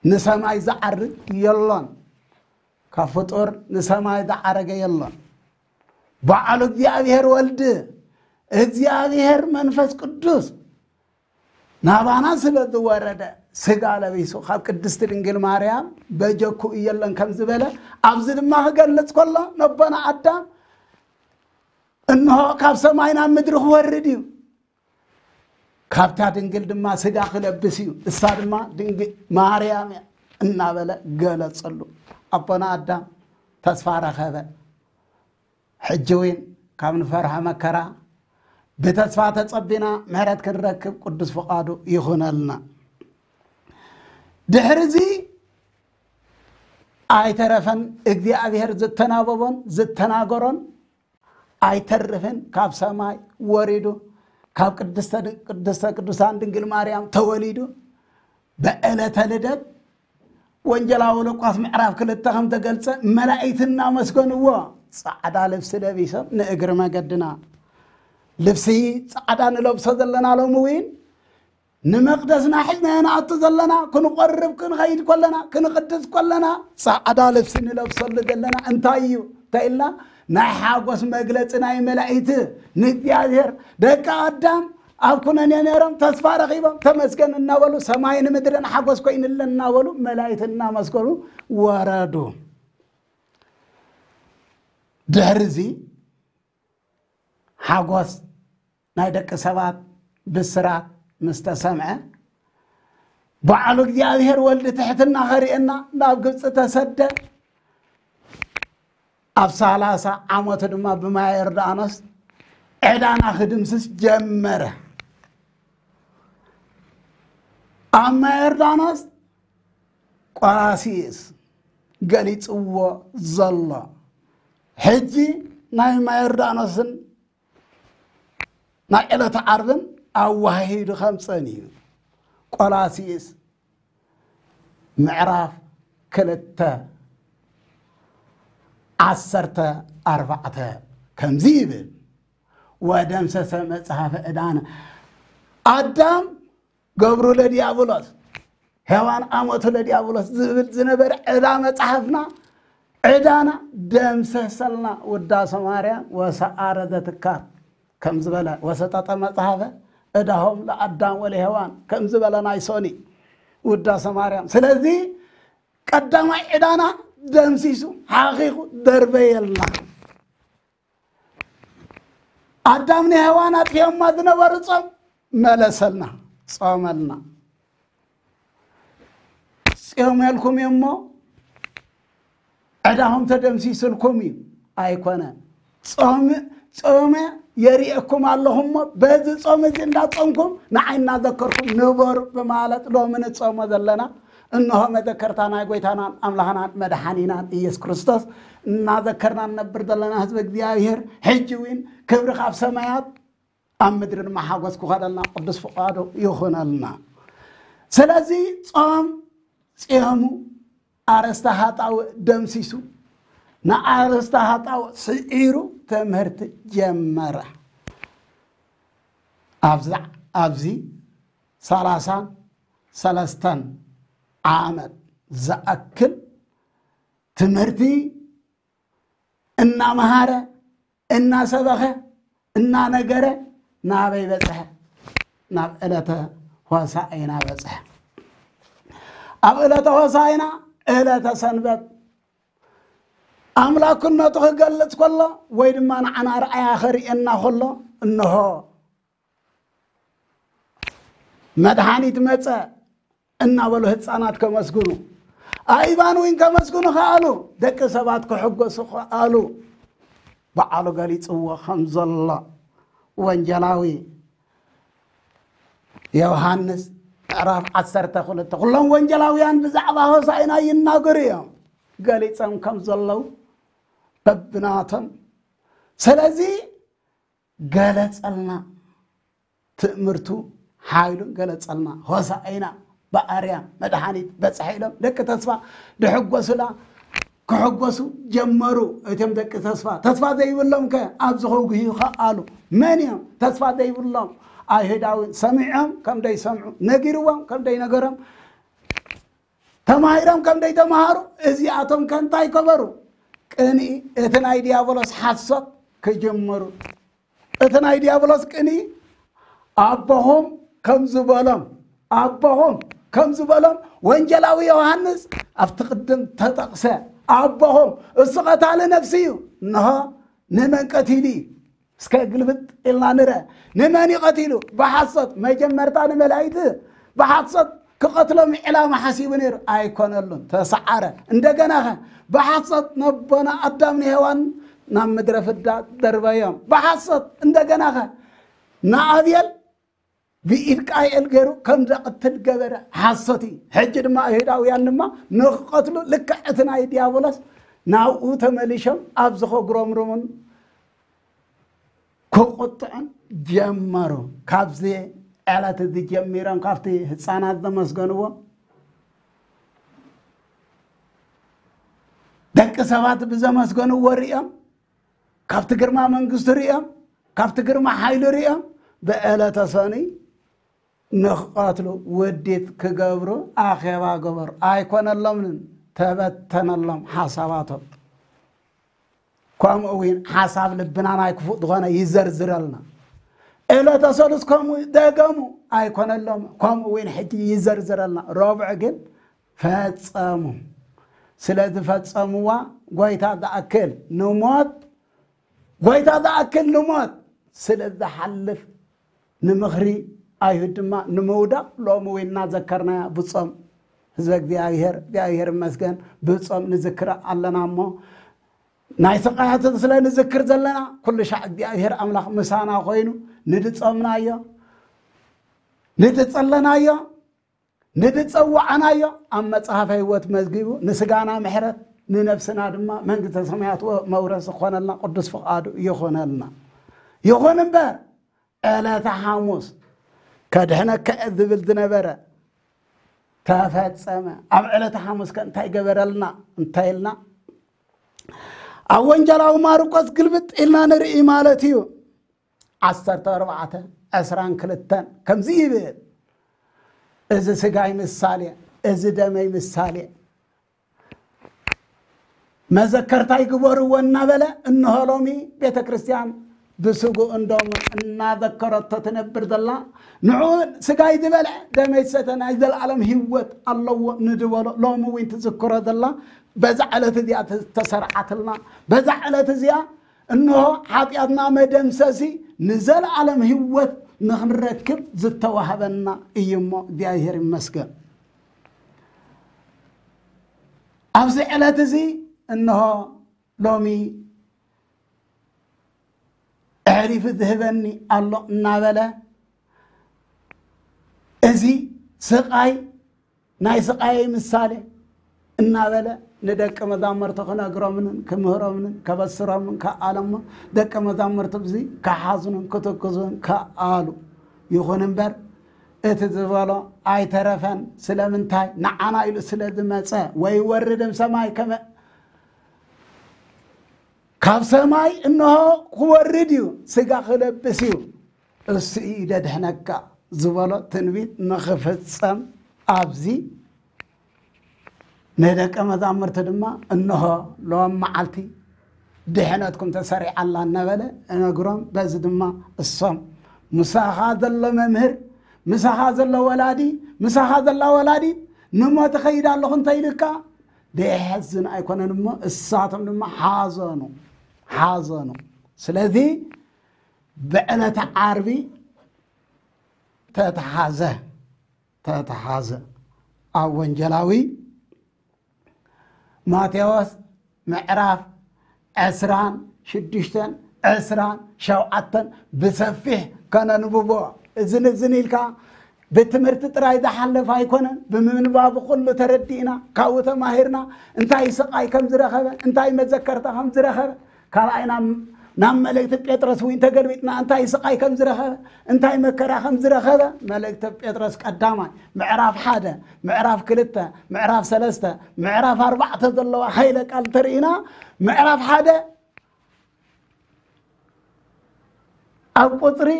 ንሰማይ ዝዓርግ የሎን። ካብ ፍጡር ንሰማይ ዝዓረገ የሎን። ባዕሉ እግዚኣብሔር ወልድ እግዚኣብሔር መንፈስ ቅዱስ ናባና ስለ ዝወረደ ስጋ ለቢሱ ካብ ቅድስቲ ድንግል ማርያም በጀኩ እየለን ከም ዝበለ ኣብዚ ድማ ክገልጽ ከሎ ነቦና ኣዳም እንሆ ካብ ሰማይ ናብ ምድሪ ክወርድ እዩ፣ ካብታ ድንግል ድማ ስጋ ክለብስ እዩ፣ እሳ ድማ ድንግል ማርያም እያ እናበለ ገለጸሉ። ኣቦና ኣዳም ተስፋ ረኸበ። ሕጂ እውን ካብ ንፈርሖ መከራ ብተስፋ ተጸቢና ምሕረት ክንረክብ ቅዱስ ፍቓዱ ይኹነልና። ድሕሪ እዚ ኣይተረፈን እግዚኣብሔር ዝተናበቦን ዝተናገሮን ኣይተርፍን ካብ ሰማይ ወሪዱ ካብ ቅድስተ ቅድስተ ቅዱሳን ድንግል ማርያም ተወሊዱ ብዕለተ ልደት ወንጌላዊ ሉቃስ ምዕራፍ ክልተ ከም ተገልጸ መላእክቲ እናመስገንዎ ጻዕዳ ልብሲ ለቢሶም ንእግሪ መገድና ልብሲ ጻዕዳ ንለብሶ ዘለና ሎሚ እውን ንመቕደስና ሒዝናዮ ንኣቱ ዘለና፣ ክንቆርብ ክንኸይድ ከለና፣ ክንቕድስ ከለና፣ ጻዕዳ ልብሲ ንለብሰሉ ዘለና እንታይ እዩ? እንታይ ኢልና? ናይ ሓጎስ መግለጺ ናይ መላእክት ንእግዚኣብሔር። ደቂ ኣዳም ኣብ ኩነኔ ነይሮም፣ ተስፋ ረኺቦም፣ ተመስገን እናበሉ፣ ሰማይን ምድርን ሓጎስ ኮይንለን እናበሉ፣ መላእክት እናመስገኑ ወረዱ። ድሕሪ እዚ ሓጎስ ናይ ደቂ ሰባት ብስራት ምስ ተሰምዐ፣ ባዕሉ እግዚኣብሔር ወልዲ ትሕትና ኸርእየና ናብ ግብፂ ተሰደ። ኣብ ሰላሳ ዓመቱ ድማ ብማየ ዮርዳኖስ ዕዳና ክድምስስ ጀመረ። ኣብ ማየ ዮርዳኖስ ቆላሲስ ገሊጽዎ ዘሎ፣ ሕጂ ናይ ማየ ዮርዳኖስን ናይ ዕለተ ዓርብን ኣዋሂዱ ከምጸን እዩ። ቆላሲስ ምዕራፍ ክልተ ዓሰርተ ኣርባዕተ ከምዚ ይብል፣ "ወደምሰሰ መጽሐፈ ዕዳነ ኣዳም ገብሩ ለዲያብሎስ፣ ሔዋን ኣመቱ ለዲያብሎስ" ዝብል ዝነበረ ዕዳ መጽሓፍና፣ ዕዳና ደምሰሰልና። ውዳሴ ማርያም "ወሰዓረ ዘትካር" ከም ዝበለ፣ "ወሰጠጠ መጽሐፈ ዕዳሆም ለአዳም ወለሔዋን" ከም ዝበለ ናይ ሶኒ ውዳሴ ማርያም። ስለዚ ቀዳማይ ዕዳና ደምሲሱ፣ ሓኺኹ፣ ደርበየልና። ኣዳም ንሔዋን ኣጥፊኦማ ዝነበሩ ጾም መለሰልና፣ ጾመልና። ጽዮመልኩም እዩ እሞ ዕዳኹም ተደምሲስልኩም እዩ፣ ኣይኮነን። ጾም፣ ጾመ የርእየኩም ኣለኹ እሞ በዚ ጾም እዚ እንዳጾምኩም ንዓይ እናዘከርኩም ንበሩ ብማለት ሎሚ ንጾሞ ዘለና፣ እንሆ መዘከርታ ናይ ጎይታናን ኣምላኽናን መድሓኒናን ኢየሱስ ክርስቶስ እናዘከርና ንነብር ዘለና ህዝቢ እግዚኣብሔር፣ ሕጂ እውን ክብሪ ካብ ሰማያት ኣብ ምድሪ ድማ ሓጎስ ክኸደልና ቅዱስ ፍቓዱ ይኹነልና። ስለዚ ጾም ጽዮሙ ኣርእስተ ኃጣውእ ደምሲሱ፣ ንኣርእስተ ኃጣውእ ስዒሩ ትምህርቲ ጀመረ። ኣብዚ፣ ኣብዚ ሰላሳን ሰለስተን ዓመት ዝኣክል ትምህርቲ እናመሃረ፣ እናሰበኸ፣ እናነገረ ናበይ በጽሐ? ናብ ዕለተ ሆሳዕና በጽሐ። ኣብ ዕለተ ሆሳዕና፣ ዕለተ ሰንበት፣ ኣምላክነቱ ክገልጽ ከሎ ወይ ድማ ንዓና ርኣያ ከርእየና ከሎ፣ እንሆ መድሓኒት መጸ እናበሉ ህፃናት ከመስግኑ፣ ኣእባን እውን ከመስግኑ ከኣሉ፣ ደቂ ሰባት ክሕጎሱ ከኣሉ። በዓሉ ገሊፅዎ ከም ዘሎ ወንጌላዊ ዮሃንስ ምዕራፍ ዓሰርተ ክልተ። ኩሎም ወንጌላውያን ብዛዕባ ሆሳዕና ይናገሩ እዮም፣ ገሊፆም ከም ዘለዉ በብናቶም። ስለዚ ገለጸልና፣ ትእምርቱ ሓይሉን ገለጸልና። ሆሳዕና ብኣርያም መድሓኒት በጽሐ ኢሎም ደቂ ተስፋ ድሕጎሱላ ክሕጎሱ ጀመሩ። እቶም ደቂ ተስፋ፣ ተስፋ ዘይብሎም ከ ኣብዚ ከጉህዩ ከኣሉ። መን እዮም ተስፋ ዘይብሎም? ኣይሁዳውያን። ሰሚዖም ከም ደይሰምዑ፣ ነጊርዎም ከም ደይነገሮም፣ ተማሂሮም ከም ደይተማሃሩ፣ እዚኣቶም ከ እንታይ ከበሩ? ቅንኢ፣ እቲ ናይ ዲያብሎስ ሓሶት ክጅምሩ። እቲ ናይ ዲያብሎስ ቅንኢ፣ ኣቦኹም ከም ዝበሎም፣ ኣቦኹም ከም ዝበሎም ወንጌላዊ ዮሃንስ ኣብቲ ቅድም ተጠቕሰ። ኣቦኹም፣ እሱ ቀታሊ ነፍሲ እዩ። እንሆ፣ ንመን ቀቲሉ እዩ? እስከ ግልብጥ ኢልና ንረ። ንመን እዩ ቀቲሉ? ብሓሶት። መጀመርታ ንመላእክቲ ብሓሶት ክቐትሎም ዕላማ ሓሲቡ ነይሩ፣ ኣይኮነሉን፣ ተሰዓረ። እንደገናኸ ብሓሶት ነቦና ኣዳም ንሄዋን ናብ ምድረ ፍዳ ደርበዮም። ብሓሶት እንደገናኸ ንኣብየል ብኢድ ቃኤል ገይሩ ከም ዘቐትል ገበረ። ሓሶት እዩ። ሕጂ ድማ ኣይሁዳውያን ድማ ንክቐትሉ ልክዕ እቲ ናይ ዲያብሎስ ናብኡ ተመሊሾም ኣብዚ ከጉረምርሙን ክቁጥዑን ጀመሩ። ካብዚ ዕለት እዚ ጀሚሮም ካብቲ ህፃናት ዘመስገንዎ ደቂ ሰባት ብዘመስገንዎ ሪኦም፣ ካብቲ ግርማ መንግስቱ ሪኦም፣ ካብቲ ግርማ ሓይሉ ሪኦም፣ ብዕለተ ሰኑይ ንኽቐትሉ ውዲት ክገብሩ ኣኼባ ገበሩ። ኣይኮነሎምን፣ ተበተነሎም ሓሳባቶም። ከምኡ እውን ሓሳብ ልብና ናይ ክፉእ ዝኾነ ይዘርዝረልና። ዕለተ ሰሉስ ከምኡ ደገሙ፣ ኣይኮነሎም፣ ከምኡ እውን ሕጂ ይዘርዝረልና። ረቡዕ ግን ፈጸሙ። ስለ ዝፈጸምዋ ጎይታ ዝኣክል ንሞት፣ ጎይታ ዝኣክል ንሞት ስለ ዝሓልፍ ንምኽሪ ኣይሁድ ድማ ንምውዳቕ ሎሚ እውን እናዘከርናያ ብጾም ህዝበ እግዚኣብሔር፣ እግዚኣብሔር ይመስገን፣ ብጾም ንዝክር ኣለና። እሞ ናይ ስቃያት ስለ ንዝክር ዘለና ኩሉ ሻዕ እግዚኣብሔር ኣምላኽ ምሳና ኮይኑ ንድጾምናዮ፣ ንድጸለናዮ፣ ንድጸዋዕናዮ ኣብ መጽሓፈ ህይወት መዝጊቡ ንስጋና ምሕረት ንነፍስና ድማ መንግስተ ሰማያት ወ-፣ መውረስ ዝኾነልና ቅዱስ ፍቓዱ ይኾነልና። ይኹን እምበር ዕለተ ሓሙስ ከድሕነከ ዝብል ዝነበረ ተፈጸመ። ኣብ ዕለተ ሓሙስ ከ እንታይ ገበረልና እንታይ ኢልና ኣብ ወንጌላዊ ማርቆስ ግልብጥ ኢልና ንርኢ ማለት እዩ። ዓሰርተ ኣርባዕተ ዕስራን ክልተን ከምዚ ይብል፣ እዚ ስጋይ ምሳሌ፣ እዚ ደመይ ምሳሌ፣ መዘከርታይ ግበርዎ እናበለ፣ እንሆ ሎሚ ቤተ ክርስቲያን ብስጉ እንዶም እናዘከረቶ ትነብር ዘላ። ንዑ ስጋይ ዝበልዐ ደመይ ዝሰተ ናይ ዘለኣለም ህይወት ኣለዎ ንድበሎ ሎሚ እውን ትዝክሮ ዘላ። በዛ ዕለት እዚኣ ተሰርዓትልና። በዛ ዕለት እዚኣ እንሆ ሓጢኣትና መደምሰሲ ንዘለኣለም ህይወት ንኽንረክብ ዝተዋህበና እዩ እሞ እግዚኣብሔር ይመስገን። ኣብዚ ዕለት እዚ እንሆ ሎሚ ኣሕሊፉ ዝህበኒ ኣሎ እናበለ እዚ ስቓይ ናይ ስቓየይ ምሳሌ እናበለ ንደቂ መዛሙርቱ ክነግሮምን ክምህሮምን ከበስሮምን ከኣለሞ ደቂ መዛሙርቱ ብዚ ከሓዝኑን ክትክዙን ከኣሉ። ይኹን እምበር እቲ ዝበሎ ኣይተረፈን። ስለምንታይ? ንዓና ኢሉ ስለ ዝመጸ። ወይወርድ እምሰማይ ከመ ካብ ሰማይ እንሆ ክወርድ እዩ፣ ስጋ ክለብስ እዩ፣ እሱ እዩ ደድሕነካ ዝበሎ ትንቢት ንኽፍጸም ኣብዚ ንደቀ መዛሙርቲ ድማ እንሆ ሎም መዓልቲ ድሕነትኩም ተሰሪዓ ኣላ እናበለ እነግሮም። በዚ ድማ እሶም ምሳኻ ዘሎ መምህር፣ ምሳኻ ዘሎ ወላዲ፣ ምሳኻ ዘላ ወላዲት ንሞት እኸይድ ኣለኹ እንተኢልካ ደይሐዝን ኣይኮነን እሞ እሳቶም ድማ ሓዘኑ፣ ሓዘኑ። ስለዚ ብዕለተ ዓርቢ ተተሓዘ፣ ተተሓዘ። ኣብ ወንጌላዊ ማቴዎስ ምዕራፍ ዕስራን ሽዱሽተን፣ ዕስራን ሸውዓተን ብሰፊሕ ከነንብቦ። እዝን እዝን ኢልካ ብትምህርቲ ጥራይ ዝሓለፍ ኣይኮነን። ብምንባቡ ኩሉ ተረዲእና፣ ካብኡ ተማሂርና፣ እንታይ ስቓይ ከም ዝረኸበ፣ እንታይ መዘከርታ ከም ዝረኸበ፣ ካልኣይ ናብ፣ ናብ መልእክቲ ጴጥሮስ እውን ተገልቢጥና፣ እንታይ ስቓይ ከም ዝረኸበ፣ እንታይ መከራ ከም ዝረኸበ፣ መልእክቲ ጴጥሮስ ቀዳማይ ምዕራፍ ሓደ፣ ምዕራፍ ክልተ፣ ምዕራፍ ሰለስተ፣ ምዕራፍ ኣርባዕተ ዘለዋ ሓይለ ቃል ተርኢና፣ ምዕራፍ ሓደ ኣብ ቁጽሪ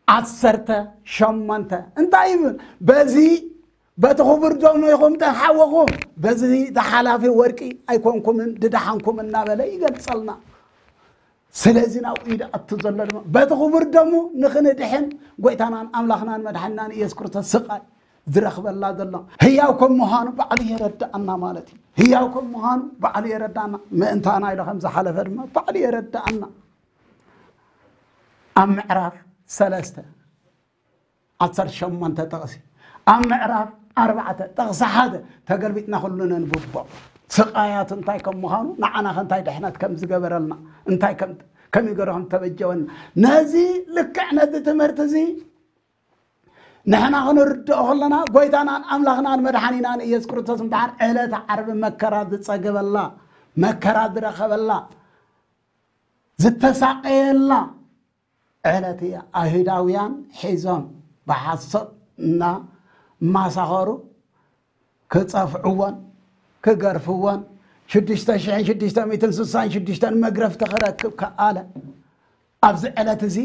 ዓሰርተ ሸሞንተ እንታይ ይብል? በዚ በቲ ክቡር ደሙ ኢኹም ተሓወኹም፣ በዚ ተሓላፊ ወርቂ ኣይኮንኩምን ድድሓንኩም እናበለ ይገልጸልና። ስለዚ ናብኡ እዩ ዝኣቱ ዘሎ ድማ። በቲ ክቡር ደሙ ንኽንድሕን ጎይታናን ኣምላኽናን መድሓኒናን ኢየሱስ ክርስቶስ ስቓይ ዝረኽበላ ዘሎ ህያው ከም ምዃኑ ባዕሉ የረድኣና ማለት እዩ። ህያው ከም ምዃኑ ባዕሉ የረድኣና። ምእንታና ኢሉ ከም ዝሓለፈ ድማ ባዕሉ የረድኣና። ኣብ ምዕራፍ ሰለስተ ዓሰርተ ሸሞንተ ጥቕሲ፣ ኣብ ምዕራፍ ኣርባዕተ ጥቕሲ ሓደ ተገልቢጥና ኩሉ ነንብቦ። ስቓያቱ እንታይ ከም ምዃኑ፣ ንዓና ከ እንታይ ድሕነት ከም ዝገበረልና፣ እንታይ ከም፣ ከመይ ገይሩ ከም ተበጀወና። ነዚ ልክዕ ነዚ ትምህርቲ እዚ ንሕና ክንርድኦ ከለና፣ ጎይታናን ኣምላኽናን መድሓኒናን ኢየሱስ ክርስቶስ እምበኣር ዕለተ ዓርቢ መከራ ዝጸገበላ፣ መከራ ዝረኸበላ፣ ዝተሳቐየላ ዕለት እያ። ኣይሁዳውያን ሒዞም ብሓሶት እናማሳኸሩ ክጸፍዕዎን ክገርፍዎን ሽዱሽተ ሽሕን ሽዱሽተ ሚእትን ስሳን ሽዱሽተን መግረፍቲ ክረክብ ከኣለ። ኣብዚ ዕለት እዚ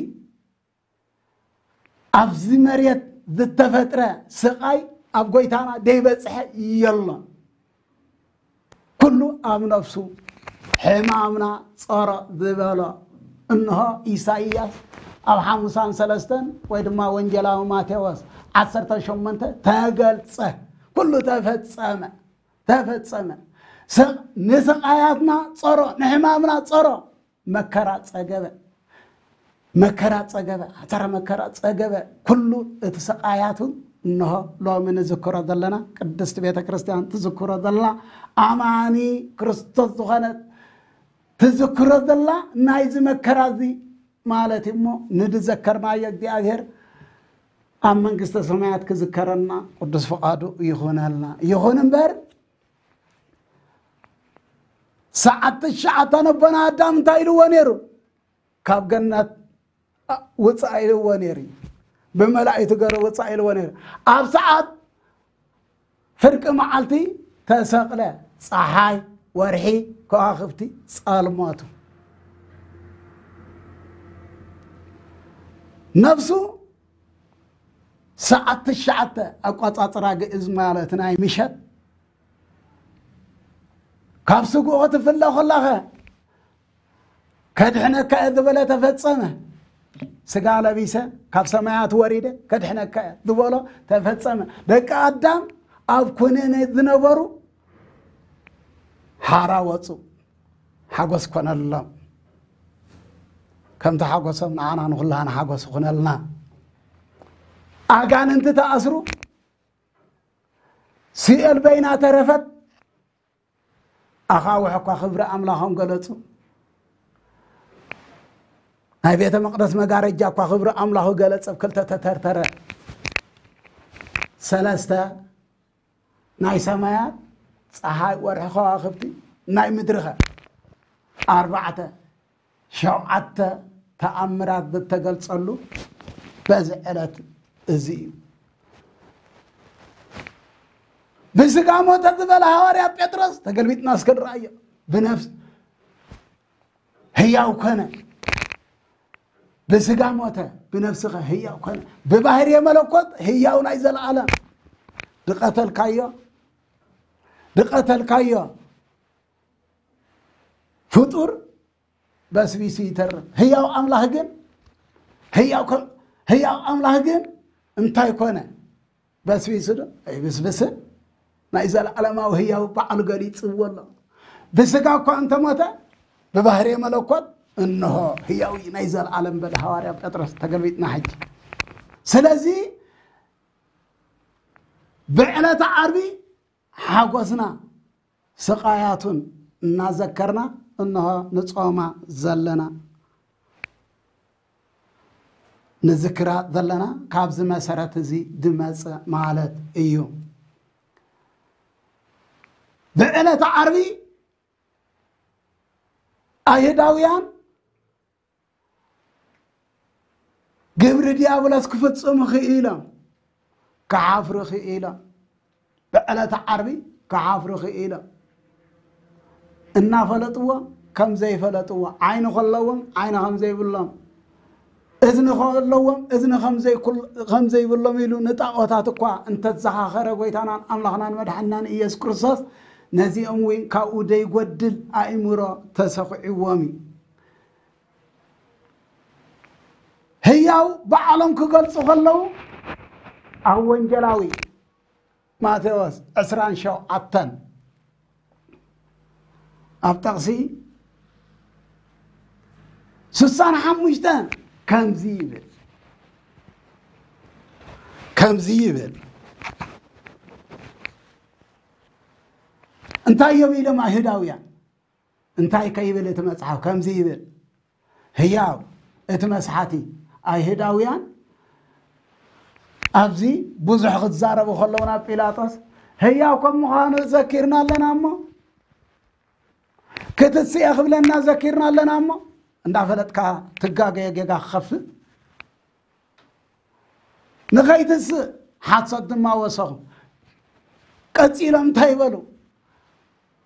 ኣብዚ መሬት ዝተፈጥረ ስቓይ ኣብ ጎይታና ደይበጽሐ የሎን። ኩሉ ኣብ ነፍሱ ሕማምና ጸሮ ዝበሎ። እንሆ ኢሳይያስ ኣብ ሓሙሳን ሰለስተን ወይ ድማ ወንጌላዊ ማቴዎስ ዓሰርተ ሸሞንተ ተገልጸ። ኩሉ ተፈጸመ፣ ተፈጸመ። ስ-፣ ንስቓያትና ጸሮ፣ ንሕማምና ጸሮ መከራ ጸገበ። መከራ ጸገበ፣ ኣተረ መከራ ጸገበ። ኩሉ እቲ ስቓያቱ እንሆ ሎሚ ንዝክሮ ዘለና፣ ቅድስቲ ቤተ ክርስቲያን ትዝክሮ ዘላ፣ ኣማኒ ክርስቶስ ዝኾነ ትዝክሮ ዘላ ናይዚ መከራ እዚ ማለት እዩ። እሞ ንድዘከርናዮ እግዚኣብሔር ኣብ መንግስተ ሰማያት ክዝከረና ቅዱስ ፍቓዱ ይኹነልና። ይኹን እምበር ሰዓት ትሽዓተ ኣቦና ኣዳም እንታይ ኢልዎ ነይሩ? ካብ ገነት ውፃእ ኢልዎ ነይሩ እዩ። ብመላእክቱ ገይሩ ውፃእ ኢልዎ ነይሩ። ኣብ ሰዓት ፍርቂ መዓልቲ ተሰቕለ። ፀሓይ፣ ወርሒ፣ ከዋኽብቲ ጸልመቱ። ነፍሱ ሰዓት ትሽዓተ ኣቋፃፅራ ግእዝ ማለት ናይ ምሸት ካብ ስግኡ ክትፍለ ከላኸ ከድሕነካ እየ ዝበለ ተፈጸመ። ስጋ ለቢሰ ካብ ሰማያት ወሪደ ከድሕነካ እየ ዝበሎ ተፈጸመ። ደቂ ኣዳም ኣብ ኩነኔ ዝነበሩ ሓራ ወፁ። ሓጎስ ኮነሎም። ከምቲ ሓጎሶም ንዓና ንኹላና ሓጎስ ይኹነልና። ኣጋንንቲ ተኣስሩ። ሲኦል በይና ተረፈት። ኣኻውሕ እኳ ክብሪ ኣምላኾም ገለጹ። ናይ ቤተ መቕደስ መጋረጃ እኳ ክብሪ ኣምላኹ ገለጸ፣ ክልተ ተተርተረ። ሰለስተ ናይ ሰማያት፣ ጸሓይ፣ ወርሒ፣ ከዋኽብቲ፣ ናይ ምድርኸ ኣርባዕተ፣ ሸውዓተ ተኣምራት ዝተገልጸሉ በዚ ዕለት እዚ እዩ። ብስጋ ሞተ ዝበለ ሃዋርያ ጴጥሮስ ተገልቢጥና እስከ ንረኣዮ። ብነፍስ ህያው ኮነ። ብስጋ ሞተ፣ ብነፍስኸ ህያው ኮነ። ብባህርየ መለኮት ህያው ናይ ዘለዓለም። ድቐተልካዮ፣ ድቐተልካዮ ፍጡር በስቢሱ ይተርፍ። ህያው ኣምላኽ ግን፣ ህያው ከ-፣ ህያው ኣምላኽ ግን እንታይ ኮነ? በስቢሱ ዶ? ኣይብስብስን። ናይ ዘለዓለማዊ ህያው ባዕሉ ገሊጽዎ ኣሎ። ብስጋ እኳ እንተሞተ፣ ብባህርየ መለኮት እንሆ ህያው እዩ ናይ ዘለዓለም በለ ሃዋርያ ጴጥሮስ። ተገልቢጥና ሕጂ። ስለዚ ብዕለተ ዓርቢ ሓጎስና ስቓያቱን እናዘከርና እንሆ ንጾማ ዘለና፣ ንዝክራ ዘለና ካብዚ መሰረት እዚ ድመጽእ ማለት እዩ። ብዕለተ ዓርቢ ኣይሁዳውያን ግብሪ ዲያብሎስ ክፍጽሙ ክኢሎም፣ ክሓፍሩ ክኢሎም፣ ብዕለተ ዓርቢ ክሓፍሩ ክኢሎም። እናፈለጥዎ ከም ዘይፈለጥዎ፣ ዓይኒ ከለዎም ዓይኒ ከም ዘይብሎም፣ እዝኒ ከለዎም እዝኒ ከም ዘይኩል-፣ ከም ዘይብሎም ኢሉ ንጣዖታት እኳ እንተዘኻኸረ ጎይታናን ኣምላኽናን መድሓንናን ኢየሱስ ክርስቶስ፣ ነዚኦም እውን ካብኡ ደይጎድል ኣእምሮ ተሰኺዕዎም እዩ። ህያው ባዕሎም ክገልጹ ከለዉ ኣብ ወንጌላዊ ማቴዎስ ዕስራን ሸውዓተን ኣብ ጠቕሲ ስሳን ሓሙሽተን ከምዚ ይብል፣ ከምዚ ይብል። እንታይ እዮም ኢሎም ኣይሁዳውያን? እንታይ ከይብል እቲ መጽሓፍ ከምዚ ይብል፣ ህያው እቲ መስሓቲ። ኣይሁዳውያን ኣብዚ ብዙሕ ክዛረቡ ከለዉ ናብ ጲላጦስ፣ ህያው ከም ምዃኑ ዘኪርና ኣለና እሞ፣ ክትስኤ ክብለና ዘኪርና ኣለና እሞ፣ እንዳፈለጥካ ትጋገየ ጌጋ ክኸፍእ ንኸይትስእ ሓሶት ድማ ወሰኹ። ቀጺሎም እንታይ ይበሉ?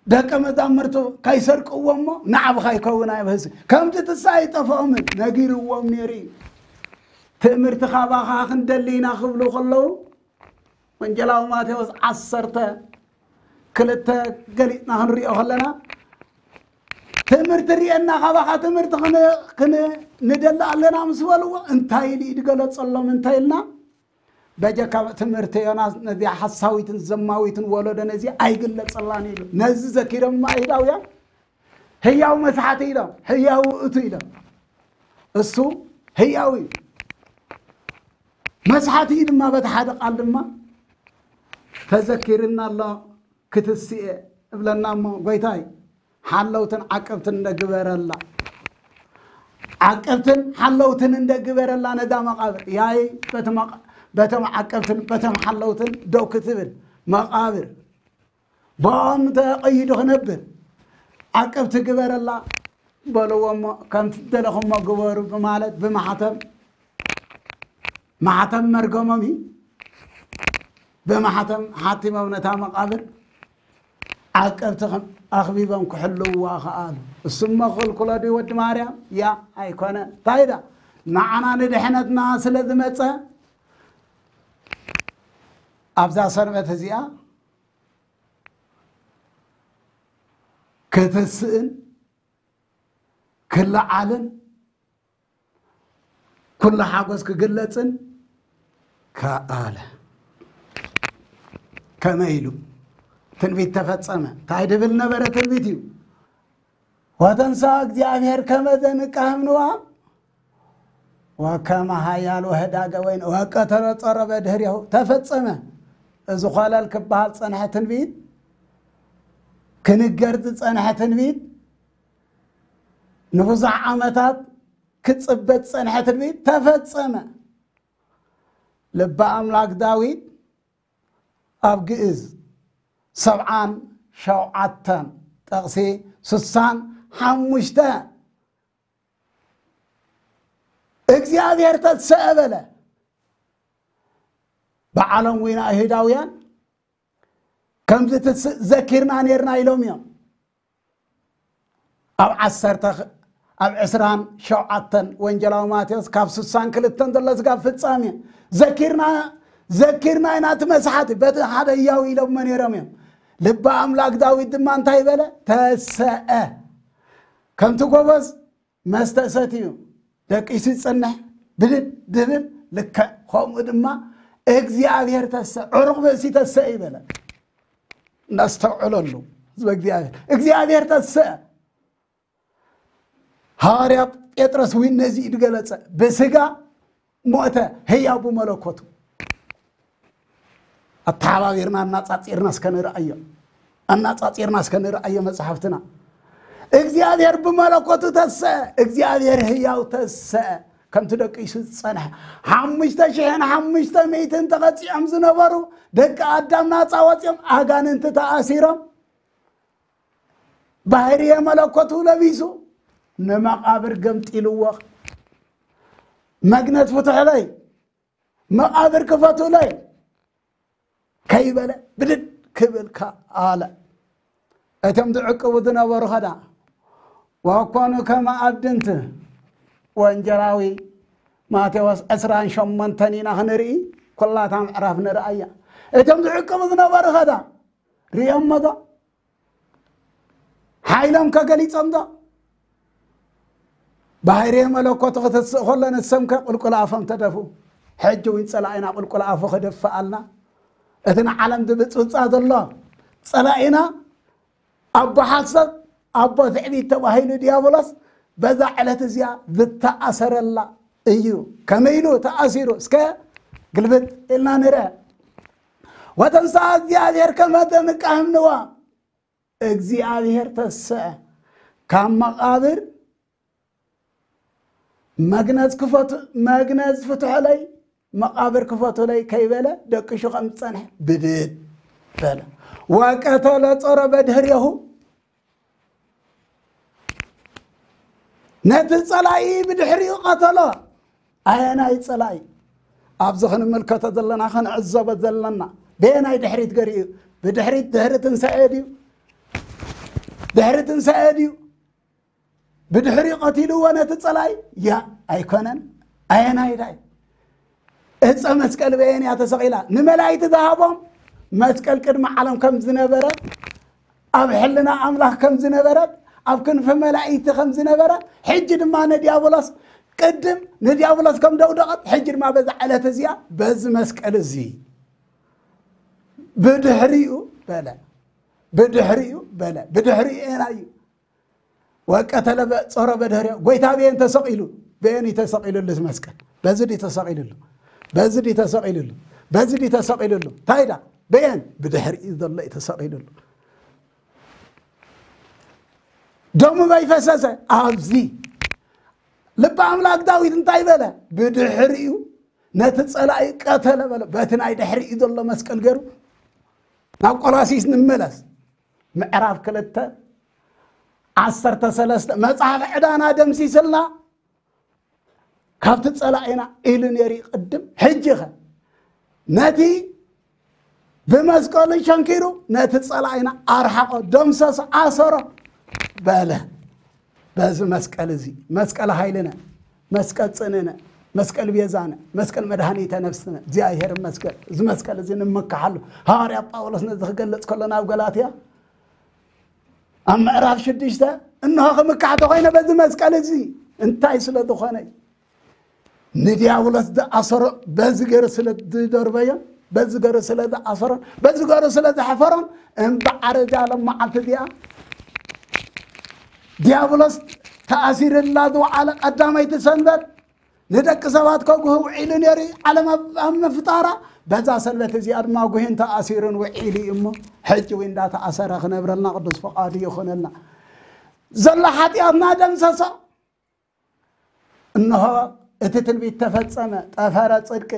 ደቀ መዛሙርቱ ከይሰርቅዎ እሞ ንዓብኻ ይከውን ኣይብህስ። ከምቲ ትስእ ኣይጠፍኦምን፣ ነጊርዎም ነይሩ እዩ። ትእምርቲ ካባኻ ክንደሊ ኢና ክብሉ ከለዉ፣ ወንጌላዊ ማቴዎስ ዓሰርተ ክልተ ገሊጽና ክንሪኦ ከለና፣ ትእምርቲ ርእየና፣ ካባኻ ትእምርቲ ክን-፣ ክን-፣ ንደሊ ኣለና ምስ በልዎ፣ እንታይ ኢሉ እዩ ዝገለጸሎም? እንታይ ኢልና? በጀካ ትምህርቲ ዮናስ ነዚኣ ሓሳዊትን ዘማዊትን ወለዶ ነዚ ኣይግለጸላን ኢሉ። ነዚ ዘኪሮም ኣይሁዳውያን ህያው መስሓቲ ኢሎም፣ ህያው ውእቱ ኢሎም። እሱ ህያው እዩ። መስሓቲ እዩ ድማ በቲ ሓደ ቃል ድማ ተዘኪርና ኣሎ። ክትስኤ እብለና እሞ፣ ጎይታይ፣ ሓለውትን ዓቀብትን እንደግበረላ፣ ዓቀብትን ሓለውትን እንደግበረላ ነዛ መቓብር። ያይ በቲ መቓ-፣ በቶም ዓቀብትን በቶም ሓለውትን ደው ክትብል መቓብር ብኦም ተቐይዱ ክነብር ዓቀብቲ ግበረላ በልዎ እሞ፣ ከምቲ ዝደለኹሞ ግበሩ ብማለት ብማሕተም፣ ማሕተም መርገሞም እዩ። ብማሕተም ሓቲሞም ነታ መቓብር ዓቀብቲ ከም ኣኽቢቦም ክሕልውዋ ከኣሉ። እሱሞ ክኽልክሎ ድዩ ወዲ ማርያም? ያ ኣይኮነ። እንታይ ዳ? ንዓና ንድሕነትና ስለ ዝመጸ ኣብዛ ሰንበት እዚኣ ክትስእን ክለዓልን ኩሉ ሓጎስ ክግለጽን ከኣለ። ከመይ ኢሉ? ትንቢት ተፈጸመ። እንታይ ድብል ነበረ? ትንቢት እዩ። ወተንሳ እግዚኣብሔር ከመ ዘንቃህም ንዋ ወከመ ሃያል ወህዳገ ወይን ወቀተለ ጸረበ ድህሬሁ። ተፈጸመ። እዚ ኾለል ክበሃል ጸንሐ ትንቢት፣ ክንገር ዝጸንሐ ትንቢት፣ ንብዙሕ ዓመታት ክጽበ ዝጸንሐ ትንቢት ተፈጸመ። ልበ ኣምላክ ዳዊት ኣብ ግእዝ ሰብዓን ሸውዓተን፣ ጥቕሲ ስሳን ሓሙሽተ፣ እግዚኣብሔር ተሰአ በለ። በዓሎም ዊና ኣይሁዳውያን ከምዚ ትስ-፣ ዘኪርና ኔርና ኢሎም እዮም። ኣብ ዓሰርተ ኽ-፣ ኣብ ዕስራን ሸውዓተን ወንጌላዊ ማቴዎስ ካብ ስሳን ክልተን ዘሎ ስጋብ ፍጻሜ ዘኪርና፣ ዘኪርና ኢና እቲ መስሓቲ በቲ ሓደ ህያው ኢሎሞ ነይሮም እዮም። ልበ ኣምላክ ዳዊት ድማ እንታይ በለ? ተሰአ። ከምቲ ጎበዝ መስተ ሰትዩ ደቂሱ ይጸንሕ፣ ብድድ ድብል ልክዕ ከምኡ ድማ እግዚኣብሔር ተሰ-፣ ዕሩቕ ብእሲ ተሰ ይበለ። እናስተውዕለሉ ህዝበ እግዚኣብሔር። እግዚኣብሔር ተሰ-፣ ሃዋርያ ጴጥሮስ እውን ነዚ እዩ ዝገለጸ። ብስጋ ሞተ፣ ህያው ብመለኮቱ። ኣተሓባቢርና ኣናጻጺርና እስከ ንርኣዮ። ኣናጻጺርና እስከ ንርኣዮ መጽሓፍትና። እግዚኣብሔር ብመለኮቱ ተሰአ፣ እግዚኣብሔር ህያው ተሰአ። ከምቲ ደቂሱ ዝጸንሐ ሓሙሽተ ሽሕን ሓሙሽተ ሚእትን ተቐጺዖም ዝነበሩ ደቂ ኣዳም ናጻ ወጺኦም፣ ኣጋንንቲ ተኣሲሮም፣ ባህርየ መለኮቱ ለቢሱ ንመቓብር ገምጢልዎ። መግነዝ ፍትሑለይ፣ መቓብር ክፈቱለይ ከይበለ ብድድ ክብል ከኣለ። እቶም ዝዕቅቡ ዝነበሩ ኸዳ ወኮኑ ከመ ኣብድንት። ወንጌላዊ ማቴዎስ ዕስራን ሸሞንተን ኢና ክንርኢ፣ ኩላታ ምዕራፍ ንርኣያ። እቶም ዝዕቅቡ ዝነበሩ ኸዳ ርእዮሞ ዶ? ሓይሎም ከ ገሊጾም ዶ? ባህርየ መለኮቱ ክትስእ ከሎ ንሶም ከ ቁልቁል ኣፎም ተደፍኡ። ሕጂ እውን ጸላኢና ቁልቁል ኣፉ ክደፍኣልና፣ እቲ ንዓለም ዝብጽብጻ ዘሎ ጸላኢና ኣቦ ሓሶት፣ ኣቦ ትዕቢት ተባሂሉ ዲያብሎስ በዛ ዕለት እዚኣ ዝተኣሰረላ እዩ። ከመይ ኢሉ ተኣሲሩ? እስከ ግልብጥ ኢልና ንርአ። ወተንሥአ እግዚኣብሔር ከመ ዘንቃህም ንዋ። እግዚኣብሔር ተሰአ ካብ መቓብር። መግነዝ ክፈቱ-፣ መግነዝ ፍትሑለይ፣ መቓብር ክፈቱለይ ከይበለ ደቂሱ ከም ዝጸንሐ ብድድ በለ። ወቀተለ ጾረ በድህሬሁ። ነቲ ጸላኢ ብድሕሪኡ ቀተሎ። ኣየናይ ጸላኢ? ኣብዚ ክንምልከቶ ዘለና፣ ክንዕዘቦ ዘለና፣ በየናይ ድሕሪት ገሪኡ? ብድሕሪት፣ ድሕሪ ትንሳኤ ድዩ? ድሕሪ ትንሳኤ ድዩ? ብድሕሪኡ ቀቲልዎ ነቲ ጸላኢ? ያ፣ ኣይኮነን። ኣየናይ ዳይ? ዕፀ መስቀል በየን እያ ተሰቒላ? ንመላእክቲ ዝሃቦም መስቀል ቅድሚ ዓለም ከም ዝነበረ፣ ኣብ ሕልና ኣምላኽ ከም ዝነበረት፣ ኣብ ክንፊ መላእክቲ ከም ዝነበረ፣ ሕጂ ድማ ንዲያብሎስ ቅድም ንዲያብሎስ ከም ደውደቐት፣ ሕጂ ድማ በዛ ዕለት እዚኣ በዚ መስቀል እዚ ብድሕሪኡ በለ፣ ብድሕሪኡ በለ፣ ብድሕሪኡ ኤና እዩ። ወቀተለ በ- ጾረ በድሕሪኡ። ጎይታ በየን ተሰቒሉ? በየን እዩ ተሰቒሉሉ እዚ መስቀል? በዚ ድዩ ተሰቒሉሉ? በዚ ድዩ ተሰቒሉሉ? በዚ ድዩ ተሰቒሉሉ? እንታይ ዳ? በየን? ብድሕሪኡ ዘሎ እዩ ተሰቒሉሉ። ደሙ በይፈሰሰ ኣብዚ ልቢ ኣምላክ ዳዊት እንታይ በለ? ብድሕሪኡ ነቲ ጸላኢ ቀተለ በለ። በቲ ናይ ድሕሪኡ ዘሎ መስቀል ገይሩ ናብ ቆላሲስ ንመለስ። ምዕራፍ ክልተ ዓሰርተ ሰለስተ መጽሓፍ ዕዳና ደምሲስልና ካብቲ ጸላኢና ኢሉ ነይሩ ቅድም። ሕጂ ኸ ነቲ ብመስቀሉ ሸንኪሩ ነቲ ጸላኢና ኣርሓቆ፣ ደምሰሶ፣ ኣሰሮ በለ። በዚ መስቀል እዚ መስቀል ሃይልነ፣ መስቀል ጽንዕነ፣ መስቀል ቤዛነ፣ መስቀል መድኃኒተ ነፍስነ እግዚኣብሔር ይመስገን። እዚ መስቀል እዚ ንምካሓሉ። ሃዋርያ ጳውሎስ ነዚ ክገልጽ ከሎ ናብ ገላትያ ኣብ ምዕራፍ ሽዱሽተ፣ እንሆ ክምካሕ ተኾይነ በዚ መስቀል እዚ፣ እንታይ ስለ ዝኾነ ንዲያብሎስ ዝኣሰሮ በዚ ገይሩ ስለ ዝደርበዮን በዚ ገይሩ ስለ ዝኣሰሮን በዚ ገይሩ ስለ ዘሕፈሮን፣ እምበኣር እዛ ሎም መዓልቲ እዚኣ ዲያብሎስ ተኣሲርላ ዝወዓለ ቀዳመይቲ ሰንበት ንደቂ ሰባት ከጉህ ውዒሉ ነይሩ። ዓለም ኣብ ኣብ ምፍጣራ በዛ ሰንበት እዚኣ ድማ ጉሂን ተኣሲሩን ውዒሉ እዩ እሞ፣ ሕጂ እውን እንዳተኣሰረ ክነብረልና ቅዱስ ፈቓዱ ይኹነልና። ዘሎ ሓጢኣትና ደምሰሶ። እንሆ እቲ ትንቢት ተፈጸመ። ጠፈረ ጽድቂ፣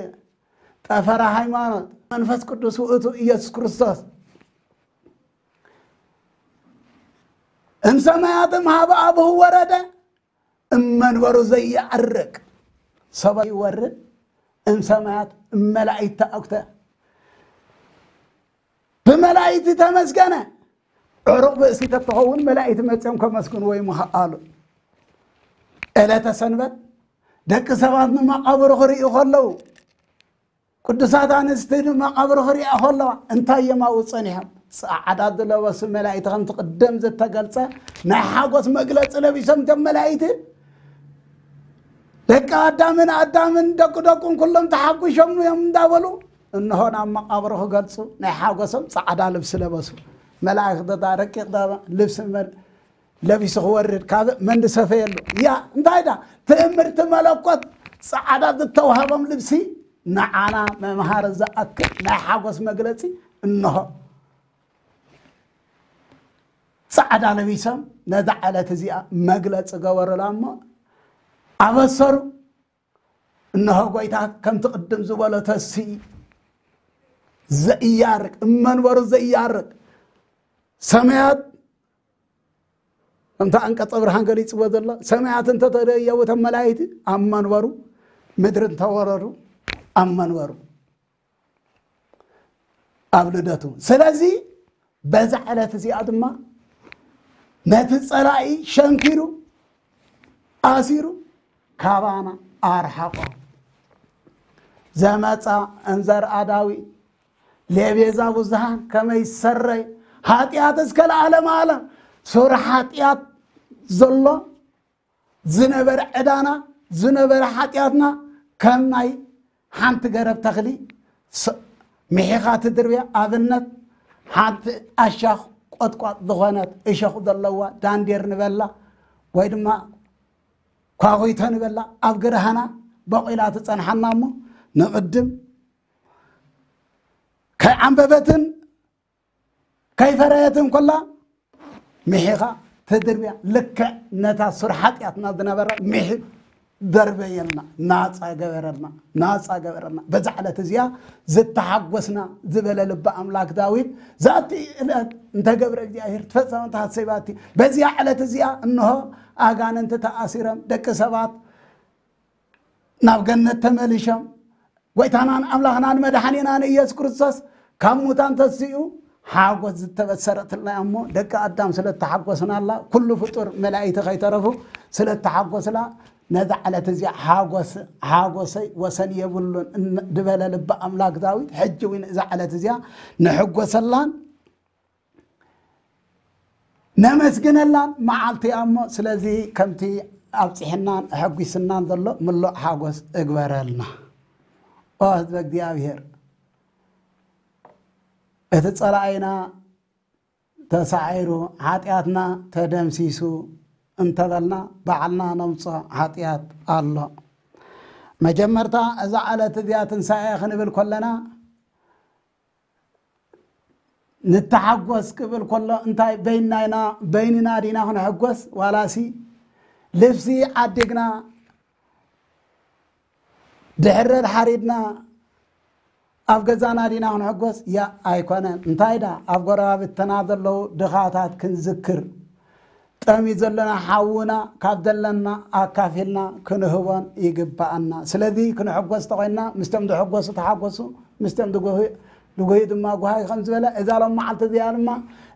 ጠፈረ ሃይማኖት፣ መንፈስ ቅዱስ ውእቱ ኢየሱስ ክርስቶስ እምሰማያትም ሀበ አብሁ ወረደ፣ እመንበሩ ዘይዐርግ። ሰማይ ይወርድ፣ እምሰማያት እመላእክት ተአኩተ። ብመላእክት ተመስገነ። ዕሩቕ ብእሲ ተትኸውን መላእክት መጺኦም ከመስግንዎ ይምኽኣሉ። ዕለተ ሰንበት ደቂ ሰባት ንመቓብሩ ክርእዩ ከለዉ፣ ቅዱሳት ኣንስቲ ንመቓብሩ ክርእያ ከለዋ እንታይ እዮም ኣብኡ ጸኒሖም? ጻዕዳ ዝለበሱ መላእክት፣ ከምቲ ቅድም ዝተገልጸ ናይ ሓጎስ መግለጺ ለቢሶም እቶም መላእክት። ደቂ ኣዳምን ኣዳምን ደቂ ደቁን ኩሎም ተሓጒሶም እዮም እንዳበሉ፣ እንሆ ናብ መቓብሩ ክገልጹ ናይ ሓጎሶም ጻዕዳ ልብሲ ለበሱ። መላእክት ዳ ረቂቕ ዳ ልብሲ መል-፣ ለቢሱ ክወርድ ካብ መንዲ ሰፈየሉ። ያ እንታይ ዳ ትእምርቲ መለኮት ጻዕዳ ዝተዋህቦም ልብሲ ንዓና መምሃሪ ዝኣክል ናይ ሓጎስ መግለጺ እንሆ። ጻዕዳ ለቢሶም ነዛ ዕለት እዚኣ መግለጺ ገበሩላ እሞ ኣበሰሩ። እንሆ ጎይታ ከምቲ ቅድም ዝበሎ ተስኢ ዘኢያርግ፣ እመንበሩ ዘኢያርግ፣ ሰማያት ከምቲ ኣንቀጸ ብርሃን ገሊጽዎ ዘሎ፣ ሰማያት እንተተደየቡ እቶም መላእክቲ ኣብ መንበሩ፣ ምድሪ እንተወረዱ ኣብ መንበሩ፣ ኣብ ልደቱ። ስለዚ በዛ ዕለት እዚኣ ድማ ነቲ ጸላኢ ሸንኪሩ፣ ኣሲሩ፣ ካባና ኣርሓቆ። ዘመጻ እንዘርኣ ዳዊት ሌቤዛ ብዙሃን ከመይ ሰረይ፣ ሓጢኣት እስከ ለዓለም ዓለም። ሱር ሓጢኣት ዘሎ ዝነበረ ዕዳና፣ ዝነበረ ሓጢኣትና ከም ናይ ሓንቲ ገረብ ተኽሊ ስ-፣ ምሒኻ ትድርብያ። ኣብነት፣ ሓንቲ ኣሻኽ ቆጥቋጥ ዝኾነት እሾኽ ዘለዋ ዳንዴር ንበላ ወይ ድማ ኳኹይቶ ንበላ ኣብ ግርሃና በቂላ ትጸንሓና እሞ፣ ንቕድም ከይዓንበበትን ከይፈረየትን ኮላ ምሒኻ ትድርብያ። ልክዕ ነታ ሱር ሓጢኣትና ዝነበረ ምሒ ደርበየልና፣ ናጻ ገበረልና፣ ናጻ ገበረልና። በዛ ዕለት እዚኣ ዝተሓጎስና ዝበለ ልበ ኣምላክ ዳዊት፣ ዛቲ ዕለት እንተ ገብረ እግዚኣብሔር ትፈጸመት ሐሴባቲ፣ በዚኣ ዕለት እዚኣ እንሆ ኣጋንንቲ ተኣሲሮም፣ ደቂ ሰባት ናብ ገነት ተመሊሾም፣ ጎይታናን ኣምላኽናን መድሓኒናን ኢየሱስ ክርስቶስ ካብ ሙታን ተሲኡ ሓጎስ ዝተበሰረትልና እሞ፣ ደቂ ኣዳም ስለ እተሓጎስናላ፣ ኩሉ ፍጡር መላእክቲ ከይተረፉ ስለ እተሓጎስላ፣ ነዛ ዕለት እዚኣ ሓጎስ ሓጎሰይ ወሰን የብሉን እን- ዝበለ ልቢ ኣምላክ ዳዊት፣ ሕጂ እውን እዛ ዕለት እዚኣ ንሕጎሰላን ነመስግነላን መዓልቲ እያ እሞ፣ ስለዚ ከምቲ ኣብፂሕናን ኣሐጒስናን ዘሎ ምሉእ ሓጎስ እግበረልና። ኦ ህዝበ እግዚኣብሔር፣ እቲ ፀላኢና ተሳዒሩ፣ ሓጢኣትና ተደምሲሱ እንተበልና፣ ባዕልና ነምፅኦ ሓጢኣት ኣሎ። መጀመርታ እዛ ዕለት እዚኣ ትንሳኤ ክንብል ከለና፣ ንተሓጎስ ክብል ከሎ፣ እንታይ በይንና ኢና፣ በይንና ዲና ክንሕጎስ? ዋላሲ ልብሲ ዓዲግና፣ ድሕረድ ሓሪድና፣ ኣብ ገዛና ዲና ክንሕጎስ? ያ ኣይኮነን። እንታይ ዳ ኣብ ጎረባብትና ዘለዉ ድኻታት ክንዝክር፣ ጠምዩ ዘለና ሓውና ካብ ዘለና ኣካፊልና ክንህቦን ይግባኣና። ስለዚ ክንሕጎስ ተኾይንና፣ ምስቶም ዝሕጎሱ ተሓጎሱ፣ ምስቶም ዝጉህ- ዝጉህዩ ድማ ጉሃዩ ከም ዝበለ፣ እዛ ሎም መዓልቲ እዚኣ ድማ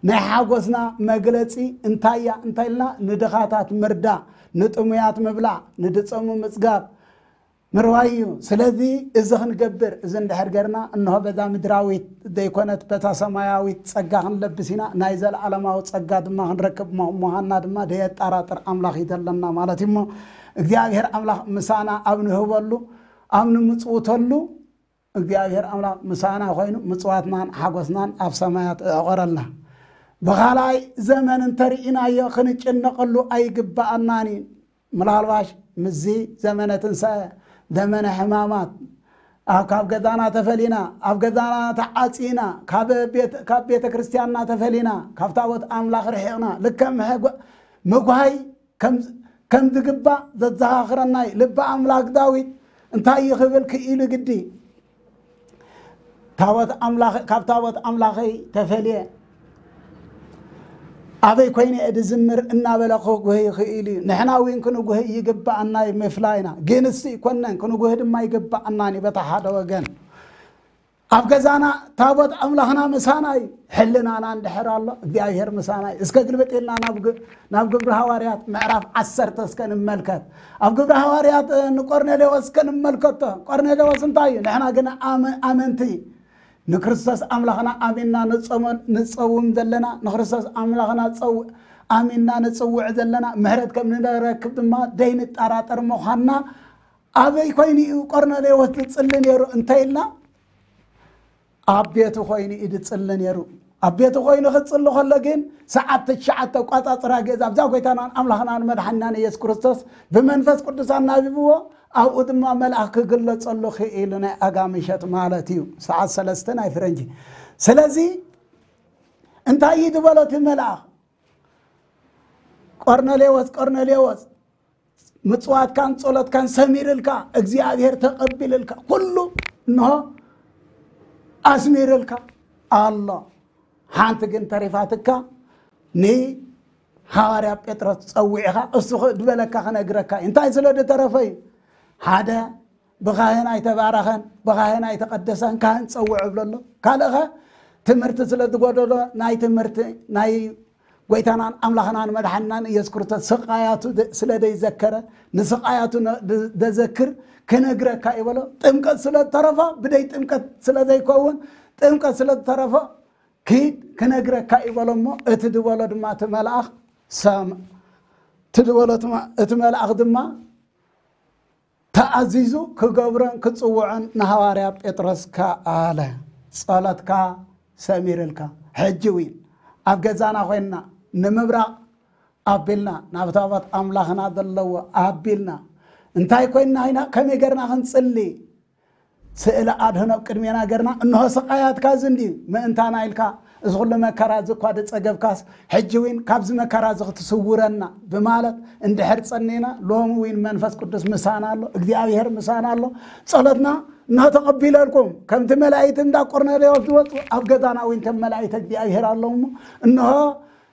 ናይ ሓጎስና መግለጺ እንታይ እያ እንተ ኢልና፣ ንድኻታት ምርዳእ፣ ንጥሙያት ምብላዕ፣ ንድጸሙ ምጽጋብ፣ ምርዋይ እዩ። ስለዚ እዚ ክንገብር፣ እዚ እንድሕር ገርና፣ እንሆ በዛ ምድራዊት ዘይኮነት በታ ሰማያዊት ጸጋ ክንለብስ ኢና፣ ናይ ዘለዓለማዊ ጸጋ ድማ ክንረክብ ሞ- ምዃንና ድማ ደየጠራጥር ኣምላኽ እዩ ዘለና ማለት እዩ። እሞ እግዚኣብሔር ኣምላኽ ምሳና ኣብ ንህበሉ፣ ኣብ ንምጽውተሉ፣ እግዚኣብሔር ኣምላኽ ምሳና ኮይኑ ምጽዋትናን ሓጎስናን ኣብ ሰማያት እዕቆረልና። ብኻልኣይ ዘመን እንተርኢናዮ ክንጭነቐሉ ኣይግባኣናን እዩ። ምናልባሽ ምስዚ ዘመነ ትንሳኤ፣ ዘመነ ሕማማት፣ ኣብ ካብ ገዛና ተፈሊና፣ ኣብ ገዛና ተዓጺና፣ ካብ ቤት- ካብ ቤተ ክርስቲያንና ተፈሊና፣ ካብ ታቦት ኣምላኽ ርሒቕና፣ ልክዕ ምሕጓ- ምጉሃይ ከም ከም ዝግባእ ዘዘኻኽረና እዩ። ልቢ ኣምላክ ዳዊት እንታይ እዩ ክብል ክኢሉ ግዲ? ታቦት ኣምላኽ ካብ ታቦት ኣምላኸይ ተፈልየ ኣበይ ኮይነ እየ ዝዝምር እናበለ ክጉህ ይኽእል እዩ። ንሕና እውን ክንጉህ ይግባኣና እዩ ምፍላይና። ግን እሱ ይኮነን ክንጉህ ድማ ይግባኣና እዩ በታ ሓደ ወገን። ኣብ ገዛና ታቦት ኣምላኽና ምሳና እዩ። ሕልናና እንድሕር ኣሎ እግዚኣብሔር ምሳና እዩ። እስከ ግልብጥ ኢልና ናብ ግ- ናብ ግብሪ ሃዋርያት ምዕራፍ ዓሰርተ እስከ ንመልከት። ኣብ ግብሪ ሃዋርያት እ፣ ንቆርኔሌዎስ እስከ ንመልከቶ። ቆርኔሌዎስ እንታይ እዩ? ንሕና ግን ኣመ- ኣመንቲ ንክርስቶስ ኣምላኽና ኣሚንና ንጸሞ- ንጸውም ዘለና፣ ንክርስቶስ ኣምላኽና ጸው- ኣሚንና ንጽውዕ ዘለና፣ ምሕረት ከም ንረክብ ድማ ደይንጠራጠር ምዃንና ኣበይ ኮይኑ እዩ ቆርኔሌዎስ ዝጽሊ ነይሩ እንተ ኢልና፣ ኣብ ቤቱ ኮይኑ እዩ ዝጽሊ ነይሩ። ኣብ ቤቱ ኮይኑ ክጽሊ ከሎ ግን ሰዓት ትሽዓተ ኣቋጻጽራ ገዛ ኣብዛ ጎይታናን ኣምላኽናን መድሓኒናን ኢየሱስ ክርስቶስ ብመንፈስ ቅዱስ ኣናቢብዎ፣ ኣብኡ ድማ መልኣኽ ክግለጸሉ ክኢሉ ናይ ኣጋ ምሸት ማለት እዩ። ሰዓት ሰለስተ ናይ ፍረንጂ። ስለዚ እንታይ እዩ ዝበሎ እቲ መልኣኽ? ቆርኔሌዎስ፣ ቆርኔሌዎስ፣ ምጽዋትካን ጸሎትካን ሰሚርልካ፣ እግዚኣብሔር ተቐቢልልካ፣ ኩሉ እንሆ ኣስሚርልካ ኣሎ። ሓንቲ ግን ተሪፋትካ፣ ንሃዋርያ ጴጥሮስ ጸዊዕኻ፣ እሱ ኽ- ዝበለካ ክነግረካ እዩ። እንታይ ስለ ዝተረፈ እዩ? ሓደ ብካህን ኣይተባረኸን፣ ብካህን ኣይተቐደሰን፣ ካህን ጸውዕ እብሎ ኣሎ። ካልእኸ ትምህርቲ ስለ ዝጎደሎ ናይ ትምህርቲ ናይ ጎይታናን ኣምላኽናን መድሓንናን ኢየሱስ ክርስቶስ ስቃያቱ ደ- ስለ ዘይዘከረ፣ ንስቃያቱ ነ- ደ- ደዘክር ክነግረካ እዩ በሎ። ጥምቀት ስለ ዝተረፋ፣ ብደይ ጥምቀት ስለ ዘይከውን፣ ጥምቀት ስለ ዝተረፎ ኪድ ክነግረካ እዩ በሎ። እሞ እቲ ዝበሎ ድማ እቲ መልኣኽ ሰም እቲ ዝበሎ እቲ መ- እቲ መልኣኽ ድማ ተኣዚዙ ክገብሮን ክጽውዖን ንሃዋርያ ጴጥሮስ ከኣለ። ጸሎትካ ሰሚርልካ። ሕጂ እውን ኣብ ገዛና ኮይንና ንምብራቕ ኣቢልና፣ ናብ ታቦት ኣምላኽና ዘለዎ ኣቢልና፣ እንታይ ኮይንና ኢና፣ ከመይ ገርና ክንጽሊ? ስእሊ ኣድህኖ ኣብ ቅድሜና ገርና፣ እንሆ ስቃያትካ እዚ እንድዩ፣ ምእንታና ኢልካ እዚ ኩሉ መከራ እዚ እኳ ዝጸገብካስ፣ ሕጂ እውን ካብዚ መከራ እዚ ክትስውረና ብማለት እንድሕር ጸኒና፣ ሎሚ እውን መንፈስ ቅዱስ ምሳና ኣሎ፣ እግዚኣብሔር ምሳና ኣሎ። ጸሎትና እንሆ ተቐቢለልኩም፣ ከምቲ መላእክቲ እንዳ ቆርኔሌዎስ ዝወጹ፣ ኣብ ገዛና እውን ከም መላእክቲ እግዚኣብሔር ኣለዉ እሞ፣ እንሆ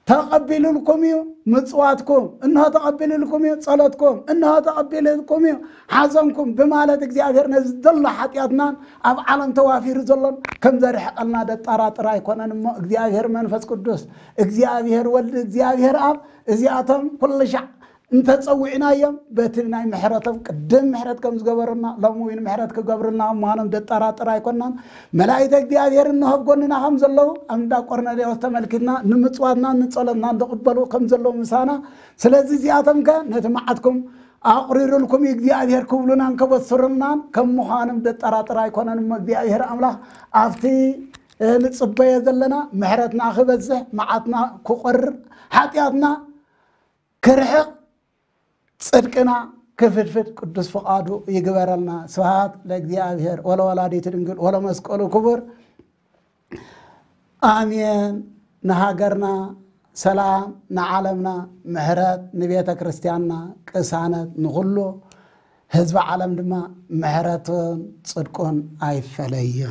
ተቐቢልልኩም እዩ ምጽዋትኩም፣ እንሆ ተቐቢልልኩም እዩ ጸሎትኩም፣ እንሆ ተቐቢልልኩም እዩ ሓዘንኩም ብማለት እግዚኣብሔር ነዚ ዘሎ ሓጢኣትናን ኣብ ዓለም ተዋፊሩ ዘሎን ከም ዘርሕቐልና ደጠራጥር ኣይኮነን እሞ እግዚኣብሔር መንፈስ ቅዱስ፣ እግዚኣብሔር ወልድ፣ እግዚኣብሔር ኣብ እዚኣቶም ኩሉ ሻዕ እንተጸዊዕናዮም በቲ ናይ ምሕረቶም ቅድም ምሕረት ከም ዝገበሩና ሎም እውን ምሕረት ክገብሩልና ምዃኖም ደጠራጥር ኣይኮናን። መላእክተ እግዚኣብሔር እንሆ ኣብ ጎንና ከም ዘለዉ ኣብ እንዳ ቆርኔሌዎስ ተመልኪትና ንምጽዋትና ንጸሎትና ዝቕበሉ ከም ዘለዉ ምሳና። ስለዚ እዚኣቶም ከ ነቲ መዓትኩም ኣቑሪሩልኩም እዩ እግዚኣብሔር ክብሉናን ከበስሩልናን ከም ምዃኖም ደጠራጥር ኣይኮነን። እሞ እግዚኣብሔር ኣምላኽ ኣብቲ ንጽበዮ ዘለና ምሕረትና ክበዝሕ፣ መዓትና ክቆርር፣ ሓጢኣትና ክርሕቕ፣ ጽድቅና ክፍድፍድ ቅዱስ ፍቓዱ ይግበረልና። ስብሐት ለእግዚኣብሔር ወለወላዲቱ ድንግል ወለመስቀሉ ክቡር። ኣሜን። ንሃገርና ሰላም፣ ንዓለምና ምሕረት፣ ንቤተ ክርስቲያንና ቅሳነት፣ ንኹሉ ህዝቢ ዓለም ድማ ምሕረቱን ጽድቁን ኣይፈለዩ።